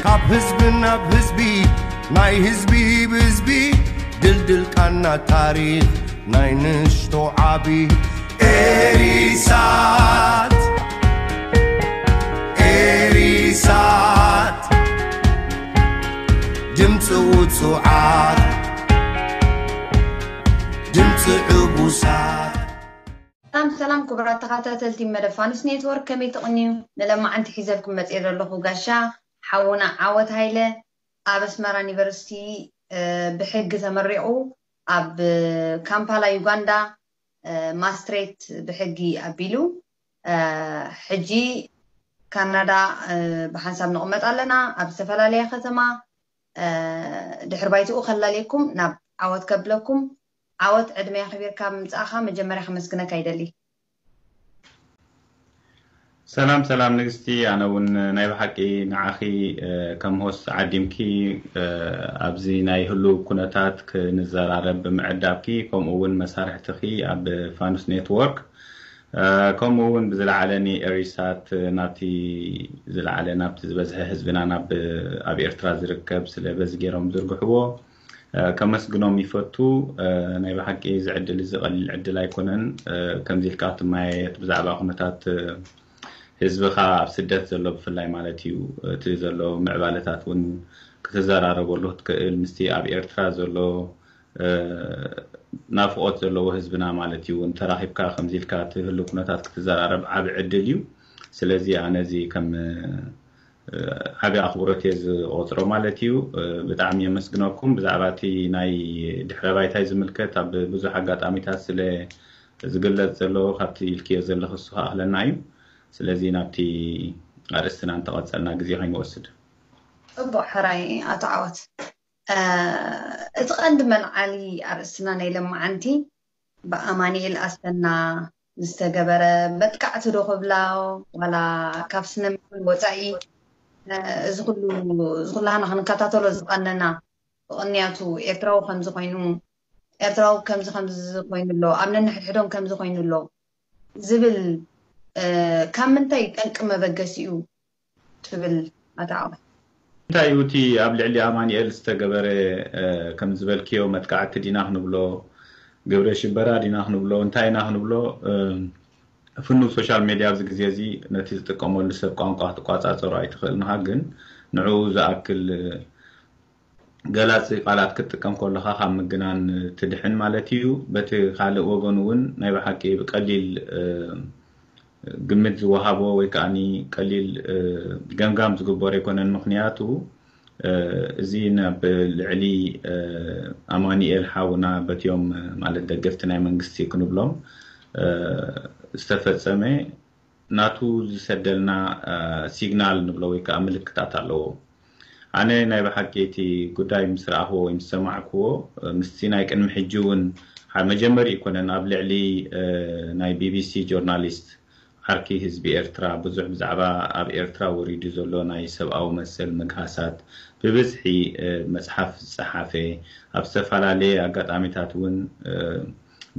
ካብ ህዝቢ ናብ ህዝቢ፣ ናይ ህዝቢ ብህዝቢ፣ ድልድል ቃና ታሪኽ ናይ ንእሽቶ ዓቢ። ኤሪሳት፣ ኤሪሳት፣ ድምፂ ውፁዓት፣ ድምፂ ዕቡሳት። ሰላም ሰላም፣ ክቡራት ተኸታተልቲ መደብ ፋኑስ ኔትወርክ፣ ከመይ ትቕንዩ? ንለማዓንቲ ሒዘልኩም መፅየ ዘለኹ ጋሻ ሓውና ዓወት ሃይለ፣ ኣብ ኣስመራ ዩኒቨርሲቲ ብሕጊ ተመሪቑ፣ ኣብ ካምፓላ ዩጋንዳ ማስትሬት ብሕጊ ኣቢሉ፣ ሕጂ ካናዳ ብሓንሳብ ንቕመጥ ኣለና። ኣብ ዝተፈላለያ ከተማ ድሕሪ ባይትኡ ከላልየኩም ናብ ዓወት ከብለኩም። ዓወት፣ ዕድመ ኣኽቢርካ ምምጻእኻ መጀመርያ ከመስግነካ ይደሊ። ሰላም ሰላም ንግስቲ፣ ኣነ እውን ናይ ብሓቂ ንዓኺ ከም ሆስት ዓዲምኪ ኣብዚ ናይ ህሉው ኩነታት ክንዘራረብ ብምዕዳብኪ፣ ከምኡ እውን መሳርሕትኺ ኣብ ፋኑስ ኔትወርክ፣ ከምኡ እውን ብዝለዓለ ንኤሪሳት ናብቲ ዝለዓለ ናብቲ ዝበዝሐ ህዝብና ናብ ኣብ ኤርትራ ዝርከብ ስለ በዚ ገይሮም ዝርግሕዎ ከመስግኖም ይፈቱ። ናይ ብሓቂ እዚ ዕድል እዚ ቀሊል ዕድል ኣይኮነን። ከምዚ ኢልካ ክትመያየጥ ብዛዕባ ኩነታት ህዝብኻ ኣብ ስደት ዘሎ ብፍላይ ማለት እዩ፣ እቲ ዘሎ ምዕባለታት እውን ክትዘራረበሉ ክትክእል፣ ምስቲ ኣብ ኤርትራ ዘሎ ናፍቖት ዘለዎ ህዝብና ማለት እዩ እውን ተራኺብካ ከምዚ ኢልካ እቲ ህሉ ኩነታት ክትዘራረብ ዓቢ ዕድል እዩ። ስለዚ ኣነ እዚ ከም ዓቢ ኣኽብሮት እየ ዝቆጽሮ ማለት እዩ። ብጣዕሚ የመስግነኩም። ብዛዕባ እቲ ናይ ድሕረ ባይታይ ዝምልከት ኣብ ብዙሕ ኣጋጣሚታት ስለ ዝግለጽ ዘሎ ካብቲ ኢልክዮ ዘለኹ እሱ ክኣኽለና እዩ። ስለዚ ናብቲ ኣርእስትና እንተቐጸልና ግዜ ከይንወስድ። ጽቡቕ ሕራይ ኣቶ ዓወት። እቲ ቀንዲ መልዓሊ ኣርእስትና ናይ ለማዓንቲ ብኣማኒኤል ኣሰና ዝተገበረ መጥቃዕቲ ዶ ክብላ ዋላ ካብ ስነ ምግባር ወፃኢ እዚ ኩሉ እዚ ኩላህና ክንከታተሎ ዝቐነና ብቕንያቱ ኤርትራዊ ከምዚ ኮይኑ ኤርትራዊ ከምዚ ከምዚ ኮይኑ ኣሎ ኣብ ነንሕድሕዶም ከምዚ ኮይኑ ኣሎ ዝብል ካብ ምንታይ ጠንቂ መበገሲኡ ትብል ኣታ ዓወት? እንታይ እዩ እቲ ኣብ ልዕሊ ኣማኒኤል ዝተገበረ ከም ዝበልክዮ መጥቃዕቲ ዲና ክንብሎ ግብረ ሽበራ ዲና ክንብሎ እንታይ ኢና ክንብሎ ፍኑ social media ኣብዚ ግዜ እዚ ነቲ ዝጥቀመሉ ሰብ ቋንቋ ክትቋጻጸሮ ኣይትኽእልንኻ ግን ንዕኡ ዝኣክል ገላጺ ቃላት ክትጥቀም ከለኻ ካብ ምግናን ትድሕን ማለት እዩ። በቲ ካልእ ወገን እውን ናይ ብሓቂ ብቀሊል ግምት ዝወሃቦ ወይ ከዓኒ ቀሊል ገምጋም ዝግበሮ ኣይኮነን። ምኽንያቱ እዚ ናብ ልዕሊ ኣማኒኤል ሓውና በትዮም ማለት ደገፍቲ ናይ መንግስቲ ክንብሎም ዝተፈጸመ ናቱ ዝሰደልና ሲግናል ንብሎ ወይ ከዓ ምልክታት ኣለዎ። ኣነ ናይ ብሓቂ እቲ ጉዳይ ምስ ረኣኽዎ ወይ ምስ ሰማዕክዎ ምስቲ ናይ ቅድሚ ሕጂ እውን መጀመሪ ይኮነን ኣብ ልዕሊ ናይ ቢቢሲ ጆርናሊስት ዓርኪ ህዝቢ ኤርትራ ብዙሕ ብዛዕባ ኣብ ኤርትራ ወሪዱ ዘሎ ናይ ሰብኣዊ መሰል ምግሃሳት ብብዝሒ መፅሓፍ ዝፀሓፈ ኣብ ዝተፈላለየ ኣጋጣሚታት እውን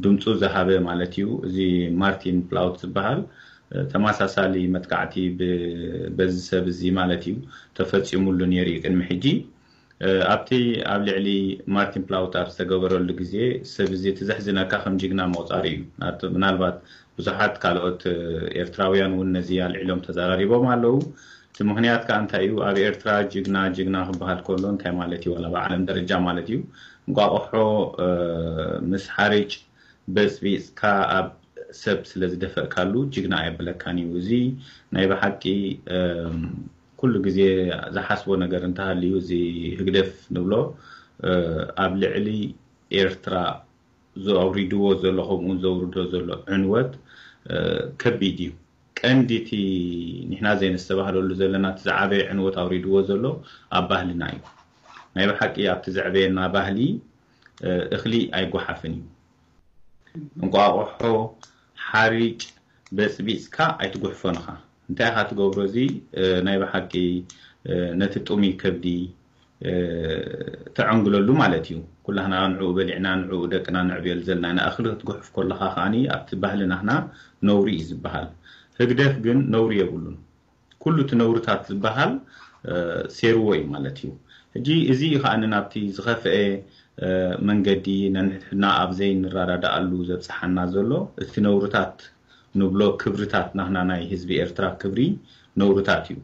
ድምፁ ዝሃበ ማለት እዩ። እዚ ማርቲን ፕላውት ዝበሃል ተመሳሳሊ መጥቃዕቲ በዚ ሰብ እዚ ማለት እዩ ተፈፂሙሉ ነይሩ እዩ ቅድሚ ሕጂ። ኣብቲ ኣብ ልዕሊ ማርቲን ፕላውት ኣብ ዝተገበረሉ ግዜ ሰብ እዚ እቲ ዘሕዝነካ ከም ጅግና ምቑፃር እዩ። ምናልባት ብዙሓት ካልኦት ኤርትራውያን እውን ነዚ ኣልዒሎም ተዘራሪቦም ኣለዉ። እቲ ምኽንያት ከዓ እንታይ እዩ? ኣብ ኤርትራ ጅግና ጅግና ክበሃል ከሎ እንታይ ማለት እዩ? ዋላ ብዓለም ደረጃ ማለት እዩ። እንቋቑሖ ምስ ሓርጭ በጽቢጽካ ኣብ ሰብ ስለ ዝደፈእካሉ ጅግና ኣየብለካን እዩ። እዚ ናይ ብሓቂ ኩሉ ግዜ ዝሓስቦ ነገር እንተሃልዩ እዚ ህግደፍ ንብሎ ኣብ ልዕሊ ኤርትራ ዘውሪድዎ ዘሎ ከምኡ እውን ዘውርዶ ዘሎ ዕንወት ከቢድ እዩ። ቀንዲ እቲ ንሕና ዘይነስተባህለሉ ዘለና እቲ ዝዓበየ ዕንወት ኣውሪድዎ ዘሎ ኣብ ባህልና እዩ። ናይ ብሓቂ ኣብቲ ዘዕበየና ባህሊ እኽሊ ኣይጓሓፍን እዩ። እንቋቑሖ፣ ሓሪጭ በፅቢፅካ ኣይትጉሕፎን ኢኻ። እንታይ ኢኻ ትገብሮ? እዚ ናይ ብሓቂ ነቲ ጥሙይ ከብዲ ተዐንግለሉ ማለት እዩ። ኩላህና ንዕኡ በሊዕና ንዕኡ ደቅና ነዕብየሉ ዘለና ኢና። እኽሊ ክትጉሕፍ ከለኻ ከዓኒ ኣብቲ ባህሊ ናህና ነውሪ እዩ ዝበሃል። ህግደፍ ግን ነውሪ የብሉን። ኩሉ እቲ ነውርታት ዝበሃል ሴርዎ እዩ ማለት እዩ። ሕጂ እዚ እዩ ከዓ ናብቲ ዝኸፍአ መንገዲ፣ ነንሕድሕድና ኣብ ዘይንረዳዳኣሉ ዘብፅሓና ዘሎ። እቲ ነውርታት ንብሎ ክብርታት ናህና ናይ ህዝቢ ኤርትራ ክብሪ ነውርታት እዩ።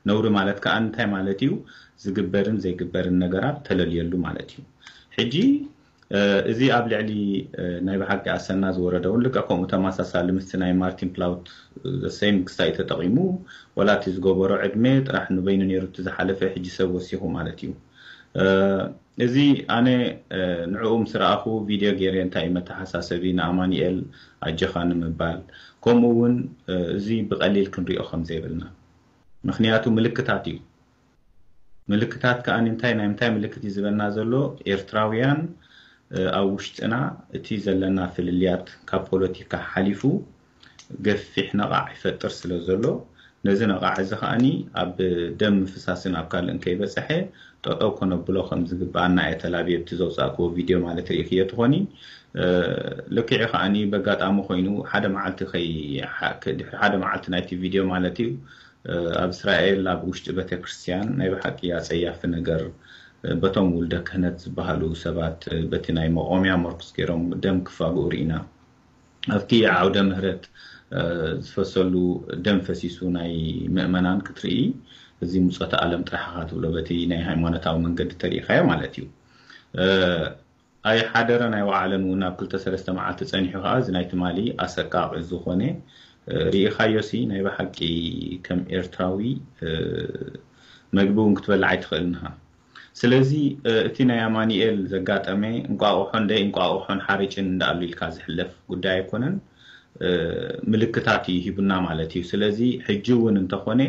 ነውሪ ማለት ከዓ እንታይ ማለት እዩ? ዝግበርን ዘይግበርን ነገራት ተለልየሉ ማለት እዩ። ሕጂ እዚ ኣብ ልዕሊ ናይ ብሓቂ ኣሰና ዝወረደ እውን ልክዕ ከምኡ ተመሳሳሊ ምስቲ ናይ ማርቲን ፕላውት ዘሰይም ክስታይ ተጠቒሙ፣ ወላ እቲ ዝገበሮ ዕድመ ጥራሕ ንበይኑ ነይሩ እቲ ዝሓለፈ፣ ሕጂ ሰብ ወሲኹ ማለት እዩ። እዚ ኣነ ንዕኡ ምስ ረኣኹ ቪድዮ ገይረ እንታይ እዩ መተሓሳሰቢ ንኣማኑኤል ኣጀኻ ንምባል፣ ከምኡ እውን እዚ ብቐሊል ክንሪኦ ከም ዘይብልና። ምክንያቱ ምልክታት እዩ። ምልክታት ከዓ እንታይ ናይ ምንታይ ምልክት እዩ ዝበና ዘሎ? ኤርትራውያን ኣብ ውሽጥና እቲ ዘለና ፍልልያት ካብ ፖለቲካ ሓሊፉ ገፊሕ ነቓዕ ይፈጥር ስለ ዘሎ፣ ነዚ ነቓዕ እዚ ከዓኒ ኣብ ደም ምፍሳስን ኣብ ካልእን ከይበፀሐ ጠጠው ከነብሎ ከም ዝግበኣና እየ ተላብየ ብቲ ዘውፃእክዎ ቪድዮ ማለት ርኢክዮ ትኾኒ። ልክዕ ከዓኒ በጋጣሚ ኮይኑ ሓደ መዓልቲ ከይ ድሕሪ ሓደ መዓልቲ ናይቲ ቪድዮ ማለት እዩ ኣብ እስራኤል ኣብ ውሽጢ ቤተክርስትያን ናይ ብሓቂ ኣጸያፊ ነገር በቶም ውልደ ክህነት ዝበሃሉ ሰባት በቲ ናይ መቆምያ መርኩስ ገይሮም ደም ክፋግኡ ርኢና። ኣብቲ ዓውደ ምህረት ዝፈሰሉ ደም ፈሲሱ ናይ ምእመናን ክትርኢ እዚ ምጾተ ዓለም ጥራሕ ኢኻ ትብሎ በቲ ናይ ሃይማኖታዊ መንገዲ ተሪኢኻዮ ማለት እዩ። ኣይሓደረን ኣይወዓለን እውን ኣብ ክልተ ሰለስተ መዓልቲ ጸኒሑ ከኣ እዚ ናይ ትማሊ ኣሰቃቒ ዝኾነ ርኢኻዮሲ ናይ ብሓቂ ከም ኤርትራዊ መግቢ እውን ክትበልዕ ኣይትኽእልን ኢኻ። ስለዚ እቲ ናይ ኣማኑኤል ዘጋጠመ እንቋቑሖ እንደ እንቋቑሖን ሓርጭን እንዳኣሉ ኢልካ ዝሕለፍ ጉዳይ ኣይኮነን። ምልክታት እዩ ሂቡና ማለት እዩ። ስለዚ ሕጂ እውን እንተኾነ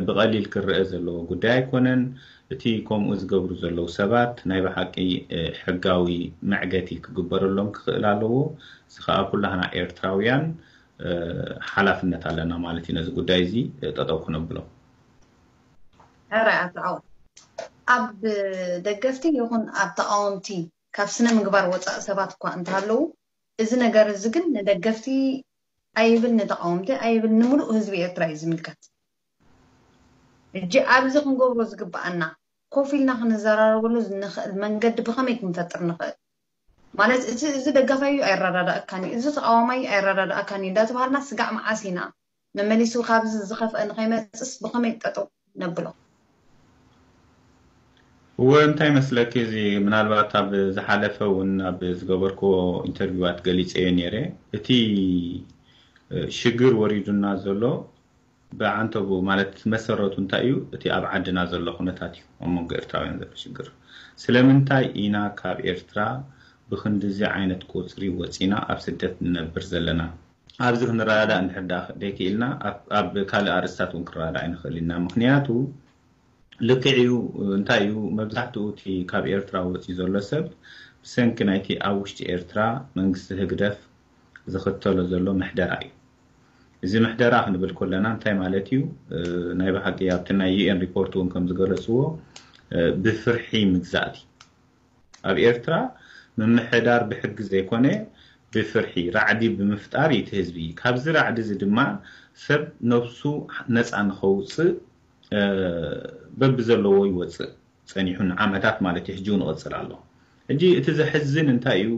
ብቐሊል ክረአ ዘለዎ ጉዳይ ኣይኮነን። እቲ ከምኡ ዝገብሩ ዘለዉ ሰባት ናይ ብሓቂ ሕጋዊ መዕገቲ ክግበረሎም ክኽእል ኣለዎ። እዚ ከዓ ኩላህና ኤርትራውያን ሓላፍነት ኣለና ማለት እዩ። ነዚ ጉዳይ እዚ ጠጠው ክነብሎ። ሕራይ ኣቶ ዓወት፣ ኣብ ደገፍቲ ይኹን ኣብ ተቃወምቲ ካብ ስነ ምግባር ወፃእ ሰባት እኳ እንተሃለዉ፣ እዚ ነገር እዚ ግን ንደገፍቲ ኣይብል ንተቃወምቲ ኣይብል ንምሉእ ህዝቢ ኤርትራ እዩ ዝምልከት። እጂ ኣብዚ ክንገብሮ ዝግብኣና ኮፍ ኢልና ክንዘራረበሉ ንኽእል መንገዲ ብኸመይ ክንፈጥር ንኽእል? ማለት እቲ እዚ ደጋፋይ እዩ ኣይረዳዳእካን እዩ፣ እዚ ተቃዋማይ እዩ ኣይረዳዳእካን እዩ እንዳተባሃልና ስጋዕ መዓስ ኢና መመሊሱ ካብዚ ዝኸፍአ ንኸይመፅስ ብኸመይ ጠጠው ነብሎ? እወ እንታይ መስለኪ፣ እዚ ምናልባት ኣብ ዝሓለፈ እውን ኣብ ዝገበርክዎ ኢንተርቪዋት ገሊፀዮ ነይረ። እቲ ሽግር ወሪዱና ዘሎ ብዓንተቡ ማለት መሰረቱ እንታይ እዩ? እቲ ኣብ ዓድና ዘሎ ኩነታት እዩ። ኣብ መንጎ ኤርትራውያን ዘሎ ሽግር። ስለምንታይ ኢና ካብ ኤርትራ ብክንድዚ ዓይነት ቁፅሪ ወፂና ኣብ ስደት ንነብር ዘለና? ኣብዚ ክንረዳዳእ እንድሕር ደኣ ደይክኢልና ኣብ ካልእ ኣርእስታት እውን ክንረዳዳእ ኣይንኽእል ኢና። ምክንያቱ ልክዕ እዩ። እንታይ እዩ መብዛሕትኡ እቲ ካብ ኤርትራ ወፂኡ ዘሎ ሰብ ብሰንኪ ናይቲ ኣብ ውሽጢ ኤርትራ መንግስቲ ህግደፍ ዝኽተሎ ዘሎ ምሕደራ እዩ። እዚ ምሕደራ ክንብል ከለና እንታይ ማለት እዩ? ናይ ብሓቂ ኣብቲ ናይ ዩኤን ሪፖርት እውን ከም ዝገለፅዎ ብፍርሒ ምግዛእቲ ኣብ ኤርትራ ምምሕዳር ብሕጊ ዘይኮነ ብፍርሒ ራዕዲ ብምፍጣር እዩ እቲ ህዝቢ። ካብዚ ራዕዲ እዚ ድማ ሰብ ነብሱ ነፃ ንኸውፅእ በብዘለዎ ይወፅእ ፀኒሑ ንዓመታት ማለት እዩ። ሕጂ እውን ይቕፅል ኣሎ። ሕጂ እቲ ዘሕዝን እንታይ እዩ?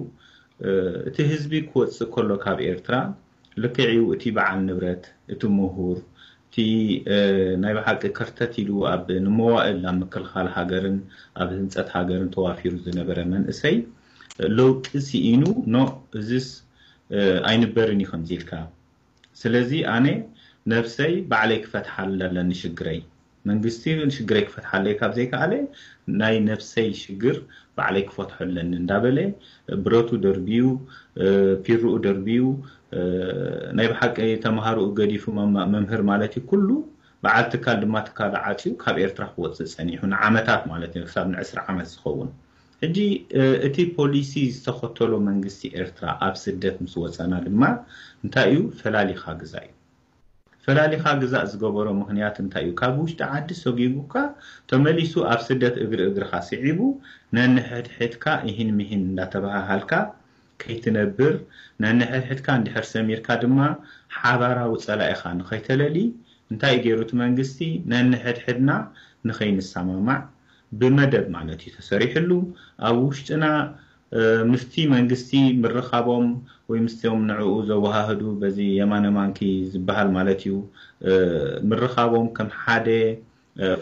እቲ ህዝቢ ክወፅእ ከሎ ካብ ኤርትራ ልክዕ እዩ እቲ በዓል ንብረት፣ እቲ ምሁር፣ እቲ ናይ ብሓቂ ከርተት ኢሉ ኣብ ንመዋእል ኣብ ምክልኻል ሃገርን ኣብ ህንፀት ሃገርን ተዋፊሩ ዝነበረ መንእሰይ ለውጢ ስኢኑ ኖ እዝስ ኣይንበርን እዩ ከምዚ ኢልካ። ስለዚ ኣነ ነብሰይ ባዕለይ ክፈትሓላ ኣለኒ ሽግረይ። መንግስቲ ሽግረይ ክፈትሓለይ ካብ ዘይከኣለ ናይ ነብሰይ ሽግር ባዕለይ ክፈትሖ ኣለኒ እንዳበለ ብረቱ ደርብዩ ፒርኡ ደርብዩ ናይ ብሓቂ ተምሃርኡ ገዲፉ መምህር ማለት እዩ ኩሉ በዓል ትካል ድማ ትካሉ ዓፅዩ ካብ ኤርትራ ክወፅእ ፀኒሑ ንዓመታት ማለት እዩ ክሳብ ንዕስራ ዓመት ዝኸውን። ሕጂ እቲ ፖሊሲ ዝተኸተሎ መንግስቲ ኤርትራ ኣብ ስደት ምስ ወፀና ድማ እንታይ እዩ ፈላሊኻ ግዛ እዩ። ፈላሊኻ ግዛእ ዝገበሮ ምኽንያት እንታይ እዩ? ካብ ውሽጢ ዓዲ ሰጒጉካ ተመሊሱ ኣብ ስደት እግሪ እግርኻ ስዒቡ ነንሕድሕድካ ኢሂን ምሂን እንዳተበሃሃልካ ከይትነብር ነንሕድሕድካ እንድሕር ሰሚርካ ድማ ሓባራዊ ጸላኢኻ ንኸይተለሊ እንታይ ገይሩ እቲ መንግስቲ? ነንሕድሕድና ንኸይንሰማማዕ ብመደብ ማለት እዩ ተሰሪሕሉ። ኣብ ውሽጥና ምስቲ መንግስቲ ምርኻቦም ወይ ምስቶም ንዕኡ ዘወሃህዱ በዚ የማነ ማንኪ ዝበሃል ማለት እዩ ምርኻቦም ከም ሓደ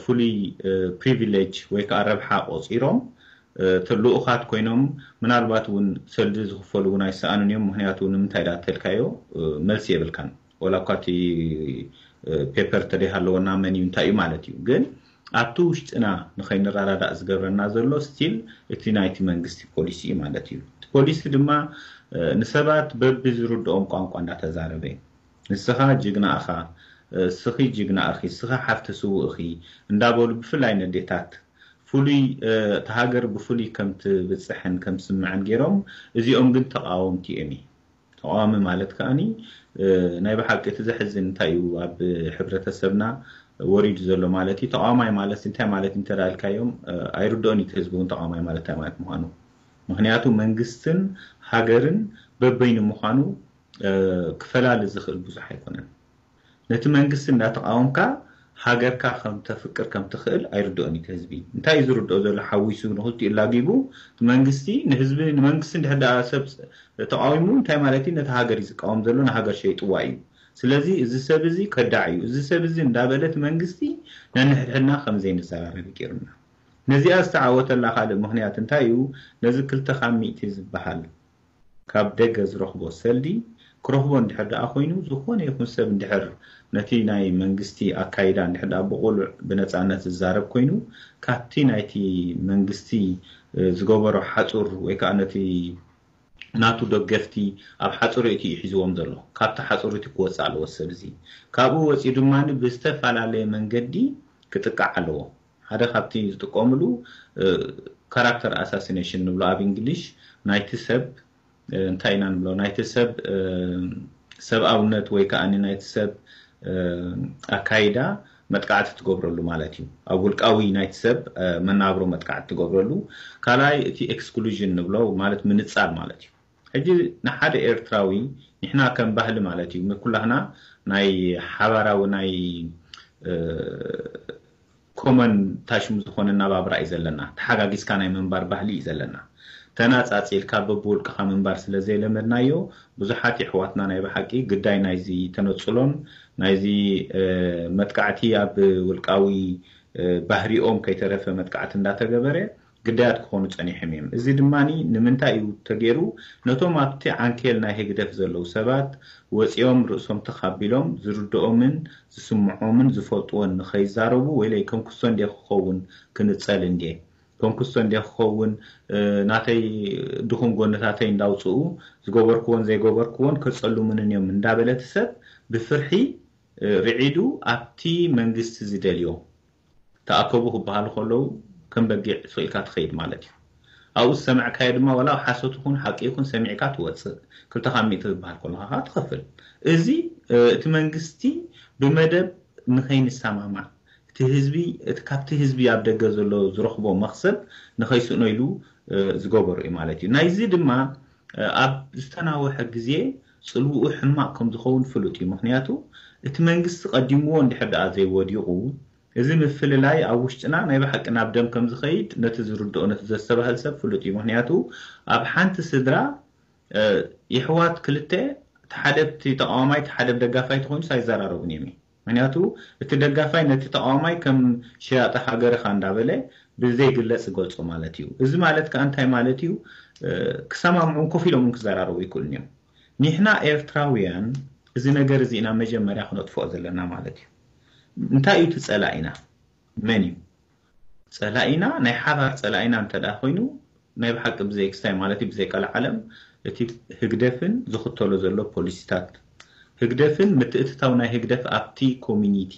ፍሉይ ፕሪቪሌጅ ወይ ከዓ ረብሓ ቆፂሮም ልኡኻት ኮይኖም ምናልባት እውን ሰልዲ ዝኽፈሉ እውን ኣይሰኣኑን እዮም። ምክንያቱ ንምንታይ ዳ ተልካዮ መልሲ የብልካን። ወላ እኳ እቲ ፔፐር ተደይሃለወና መን እዩ እንታይ እዩ ማለት እዩ። ግን ኣብቲ ውሽጥና ንኸይንረዳዳእ ዝገብረና ዘሎ ስቲል እቲ ናይቲ መንግስቲ ፖሊሲ እዩ ማለት እዩ። እቲ ፖሊሲ ድማ ንሰባት በቢ ዝርድኦም ቋንቋ እንዳተዛረበ ንስኻ ጅግና እኻ፣ ስኺ ጅግና እኺ፣ ስኻ ሓፍቲ ስውእ እኺ እንዳበሉ ብፍላይ ነዴታት ፍሉይ እቲ ሃገር ብፍሉይ ከም ትብፅሕን ከም ትስምዕን ገይሮም እዚኦም ግን ተቃወምቲ እዮም። ተቃዋሚ ማለት ከዓኒ ናይ ብሓቂ እቲ ዘሕዝን እንታይ እዩ ኣብ ሕብረተሰብና ወሪዱ ዘሎ ማለት እዩ። ተቃዋማይ ማለት እንታይ ማለት እንተዳልካዮም ኣይርድኦን እቲ ህዝቢ እውን ተቃዋማይ ማለት እንታይ ማለት ምዃኑ። ምክንያቱ መንግስትን ሃገርን በበይኑ ምዃኑ ክፈላሊ ዝኽእል ብዙሕ ኣይኮነን። ነቲ መንግስቲ እንዳተቃወምካ ሃገርካ ከም ተፍቅር ከም ትኽእል ኣይርድኦን እዩ ህዝቢ። እንታይ እዩ ዝርድኦ ዘሎ? ሓዊሱ ንክልቲኡ ላጊቡ መንግስቲ ንህዝቢ ንመንግስቲ እንድሕር ደኣ ሰብ ተቃዊሙ እንታይ ማለት እዩ? ነቲ ሃገር እዩ ዝቃወም ዘሎ፣ ንሃገር ሸይጥዋ እዩ። ስለዚ እዚ ሰብ እዚ ከዳዕ እዩ፣ እዚ ሰብ እዚ እንዳበለ እቲ መንግስቲ ነንሕድሕድና ከም ዘይንዘራረብ ገይሩና። ነዚኣ ዝተዓወተላ ካልእ ምክንያት እንታይ እዩ? ነዚ ክልተ ካብ ሚእቲ ዝበሃል ካብ ደገ ዝረኽቦ ሰልዲ ክረኽቦ እንድሕር ደኣ ኮይኑ ዝኾነ ይኹን ሰብ እንድሕር ነቲ ናይ መንግስቲ ኣካይዳ እንድሕር ደኣ ብቑሉዕ ብነፃነት ዝዛረብ ኮይኑ ካብቲ ናይቲ መንግስቲ ዝገበሮ ሓፁር ወይ ከዓ ነቲ ናቱ ደገፍቲ ኣብ ሓፁር እቲ እዩ ሒዝዎም ዘሎ። ካብቲ ሓፁር እቲ ክወፅእ ኣለዎ ሰብ እዚ። ካብኡ ወፂኡ ድማ ብዝተፈላለየ መንገዲ ክጥቃዕ ኣለዎ። ሓደ ካብቲ ዝጥቀምሉ ካራክተር ኣሳሲኔሽን ንብሎ ኣብ እንግሊሽ ናይቲ ሰብ እንታይ ኢና ንብሎ ናይቲ ሰብ ሰብኣውነት ወይ ከዓ ናይቲ ሰብ ኣካይዳ መጥቃዕቲ ትገብረሉ ማለት እዩ። ኣብ ውልቃዊ ናይቲ ሰብ መናብሮ መጥቃዕቲ ትገብረሉ። ካልኣይ እቲ ኤክስክሉዥን ንብሎ ማለት ምንፃል ማለት እዩ። ሕጂ ንሓደ ኤርትራዊ ንሕና ከም ባህሊ ማለት እዩ ኩላህና ናይ ሓባራዊ ናይ ኮመን ታሽሙ ዝኾነ ናባብራ እዩ ዘለና። ተሓጋጊዝካ ናይ ምንባር ባህሊ እዩ ዘለና። ተናፃፂልካ በብውልቅኻ ምንባር ስለ ዘይለመድናዮ ብዙሓት የሕዋትና ናይ ብሓቂ ግዳይ ናይዚ ተነፅሎን ናይዚ መጥቃዕቲ ኣብ ውልቃዊ ባህሪኦም ከይተረፈ መጥቃዕቲ እንዳተገበረ ግዳያት ክኾኑ ፀኒሖም እዮም። እዚ ድማ ንምንታይ እዩ ተገይሩ? ነቶም ኣብቲ ዓንኬል ናይ ህግደፍ ዘለዉ ሰባት ወፂኦም ርእሶም ተኻቢሎም ዝርድኦምን ዝስምዖምን ዝፈልጥዎን ንኸይዛረቡ ወይለይ ከም ክሶ እንዴ ክኸውን ክንፀል እንዴ ከም ክሶ እንዴ ክኸውን ናተይ ድኹም ጎነታተይ እንዳውፅኡ ዝገበርክዎን ዘይገበርክዎን ከፀሉምንን እዮም እንዳበለ እቲ ሰብ ብፍርሒ ርዒዱ ኣብቲ መንግስቲ ዝደልዮ ተኣከቡ ክበሃሉ ከለዉ ከም በጊዕ ስቕ ኢልካ ትኸይድ ማለት እዩ። ኣብኡ ዝሰማዕካዮ ድማ ዋላ ሓሶት ይኹን ሓቂ ይኹን ሰሚዕካ ትወፅእ። ክልተ ካብ ሚእቲ ዝበሃል ከለኻ ከዓ ትኸፍል። እዚ እቲ መንግስቲ ብመደብ ንኸይንሰማማዕ እቲ ህዝቢ እቲ ካብቲ ህዝቢ ኣብ ደገ ዘሎ ዝረኽቦ መኽሰብ ንኸይስእኖ ኢሉ ዝገበሮ እዩ ማለት እዩ። ናይዚ ድማ ኣብ ዝተናወሐ ግዜ ፅልውኡ ሕማቕ ከም ዝኸውን ፍሉጥ እዩ። ምክንያቱ እቲ መንግስቲ ቀዲምዎ እንድሕር ደኣ ዘይወዲቑ እዚ ምፍልላይ ኣብ ውሽጥና ናይ ብሓቂ ናብ ደም ከም ዝኸይድ ነቲ ዝርድኦ ነቲ ዘስተባህል ሰብ ፍሉጥ እዩ። ምክንያቱ ኣብ ሓንቲ ስድራ የሕዋት ክልተ እቲ ሓደ ብቲ ተቃዋማይ እቲ ሓደ ብደጋፋይ ተኮይኑስ ኣይዘራረቡን እዮም። ምክንያቱ እቲ ደጋፋይ ነቲ ተቃዋማይ ከም ሸያጢ ሃገርኻ እንዳበለ ብዘይግለጽ ዝገልጾ ማለት እዩ። እዚ ማለት ከዓ እንታይ ማለት እዩ? ክሰማምዑን ኮፍ ኢሎም እውን ክዘራረቡ ይክእሉን እዮም። ንሕና ኤርትራውያን እዚ ነገር እዚ ኢና መጀመርያ ክነጥፍኦ ዘለና ማለት እዩ። እንታይ እዩ እቲ ጸላኢና? መን እዩ ጸላኢና? ናይ ሓባር ጸላኢና እንተ ደኣ ኮይኑ ናይ ብሓቂ ብዘይ ክስታይ ማለት እዩ ብዘይ ቀልዓለም እቲ ህግደፍን ዝኽተሎ ዘሎ ፖሊሲታት ህግደፍን ምትእትታው ናይ ህግደፍ ኣብቲ ኮሚኒቲ